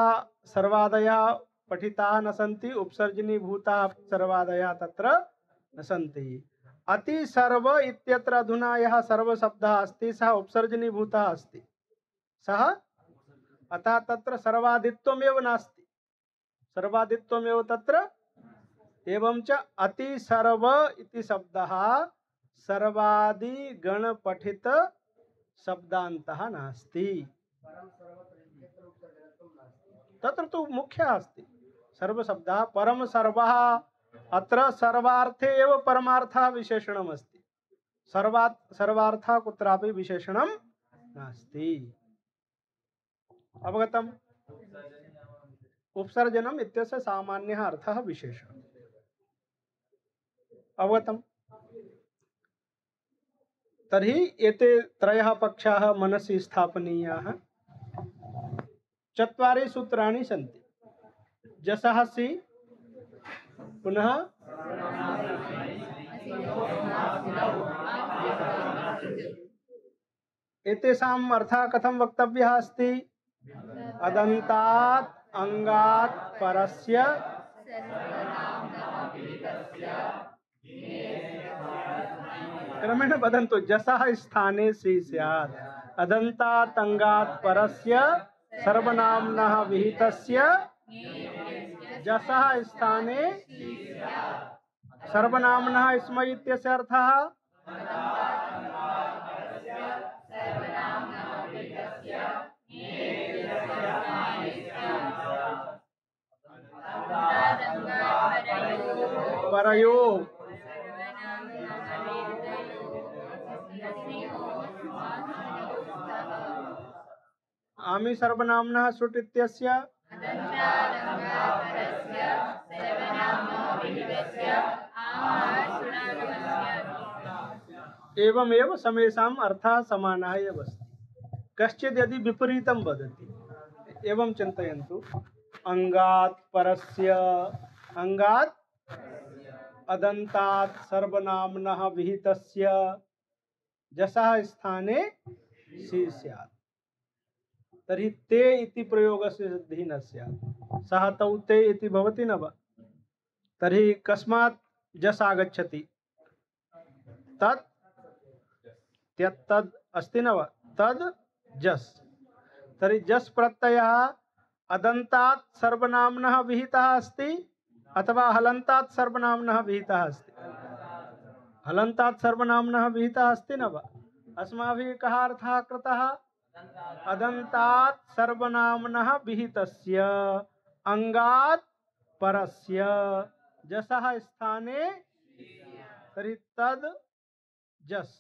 सर्वादयः पठिताः न सन्ति उपसर्जनीभूताः सर्वादयः तत्र न सन्ति अति सर्व इत्यत्र अधुना यः सर्वशब्दः अस्ति सः उपसर्जनीभूतः अस्ति सः अतः तत्र सर्वादित्वमेव नास्ति सर्वादित्वमेव तत्र एवं च अति सर्व इति शब्दः सर्वादि गण पठित शब्दान्तः नास्ति तत्र तु मुख्यः अस्ति सर्वशब्दः परम सर्वः अत्र सर्वार्थे एव परमार्थः विशेषणम् अस्ति सर्वार्थः कुत्रापि विशेषणं नास्ति अवगतम् उपसर्जनम् इत्यस्य सामान्यः अर्थः विशेषणम् अवगतम् तर्हि एते त्रयः पक्षाः मनसि स्थापनीयाः चत्वारि सूत्राणि सन्ति जसः सि पुनः एतेषाम् अर्थः कथं वक्तव्यः अस्ति अदन्तात् अंगात् परस्य क्रमेण वदन्तु जसः स्थाने सि स्यात् अदन्तात् अंगात् परस्य सर्वनाम्नः विहितस्य जसः स्थाने सर्वनाम्नः स्म इत्यस्य अर्थः परयो आमि सर्वनाम्नः सुट् इत्यस्य एवमेव समेषाम् अर्थः समानः एव अस्ति कश्चित् यदि विपरीतं वदति एवं चिन्तयन्तु अंगात् परस्य अंगात् अदन्तात् सर्वनाम्नः विहितस्य जसः स्थाने सि स्यात् तर्हि ते इति प्रयोगस्य सिद्धिः न स्यात् सः तौ ते इति भवति न वा तर्हि कस्मात् जस् आगच्छति तत् त्यक्तद् अस्ति न वा तद् जस् तर्हि जस् प्रत्ययः अदन्तात् सर्वनाम्नः विहितः अस्ति अथवा हलन्तात् सर्वनाम्नः विहितः अस्ति हलन्तात् सर्वनाम्नः विहितः अस्ति न वा अस्माभिः कः अर्थः कृतः अदन्तात् सर्वनाम्नः विहितस्य अंगात् परस्य जसः स्थाने तर्हि तद् जस्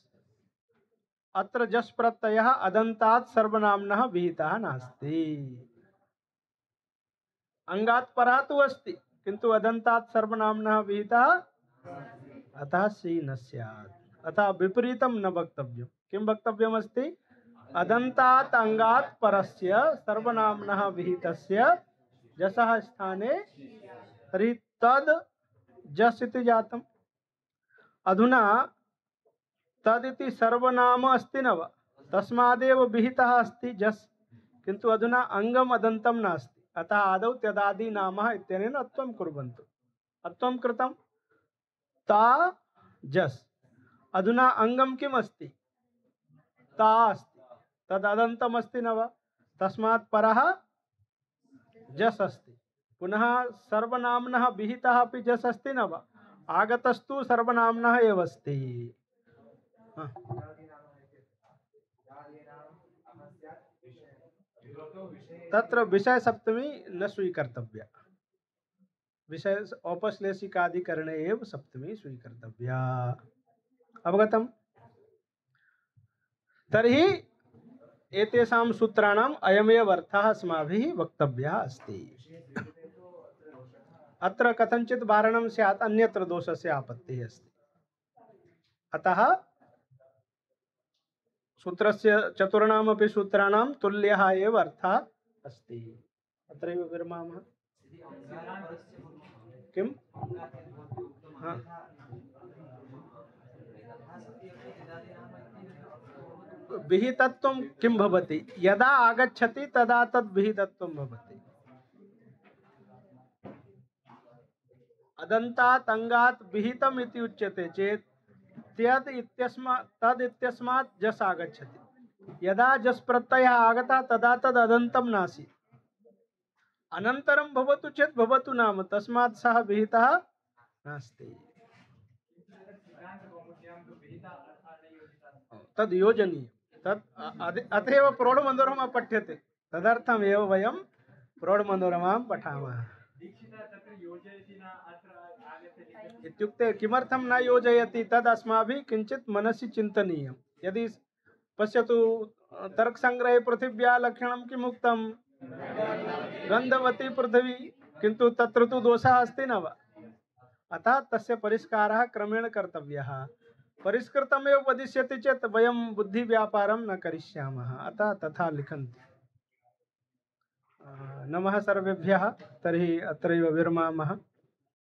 अत्र जस् प्रत्ययः अदन्तात् सर्वनाम्नः विहितः नास्ति अंगात् परः तु अस्ति किन्तु अदन्तात् सर्वनाम्नः विहितः अतः सि न स्यात् अतः विपरीतं न वक्तव्यं किं वक्तव्यमस्ति अदन्तात् अंगात् परस्य सर्वनाम्नः विहितस्य जसः स्थाने तर्हि तद् जस् इति जातम् अधुना तदिति सर्वनाम अस्ति न वा तस्मादेव विहितः अस्ति जस् किन्तु अधुना अंगम अदन्तं नास्ति अतः आदौ त्यदादि नामः इत्यनेन अत्वं कुर्वन्तु अत्वं कृतं ता जस् अधुना अंगम किम् अस्ति ता अस्ति तददन्तम् अस्ति न वा तस्मात् परः जस् अस्ति पुनः सर्वनाम्नः विहितः अपि जस् अस्ति न वा आगतस्तु सर्वनाम्नः एव अस्ति तत्र विषय सप्तमी न स्वीकर्तव्या विषय औपश्लेषिकाधिकरणे एव सप्तमी स्वीकर्तव्या अवगतम् तर्हि एतेषां सूत्राणाम् अयमेव अर्थः अस्माभिः वक्तव्यः अस्ति अत्र कथञ्चित् वारणं स्यात् अन्यत्र दोषस्य आपत्तिः अस्ति अतः सूत्रस्य चतुर्णामपि सूत्राणां तुल्यः एव अर्थः अस्ति। अत्रैव विरमामः। किम्? हा। विहितत्वं किं भवति? यदा आगच्छति तदा तद् विहितत्वं भवति। अदन्तात् अङ्गात् विहितम् इति उच्यते चेत् त्यद् इत्यस्मात् तद् इत्यस्मात् जस् आगच्छति। यदा जस् प्रत्ययः आगतः तदा तद् अदन्तं नासीत्। अनन्तरं भवतु चेत् भवतु नाम, तस्मात् सः विहितः नास्ति। तद् योजनीयं। तत् अतएव प्रौढमनोरमा पठ्यते। तदर्थमेव वयं प्रौढमनोरमां पठामः। इत्युक्ते किमर्थं न योजयति तद् अस्माभिः किञ्चित् मनसि चिन्तनीयं। यदि पश्यतु, तर्कसङ्ग्रहे पृथिव्याः लक्षणं किम् उक्तं? गन्धवती पृथिवी, किन्तु तत्र तु दोषः अस्ति न वा? अतः तस्य परिष्कारः क्रमेण कर्तव्यः। परिष्कृतमेव वदिष्यति चेत् वयं बुद्धिव्यापारं न करिष्यामः। अतः तथा लिखन्ति। नमः सर्वेभ्यः। तर्हि अत्रैव विरमामः।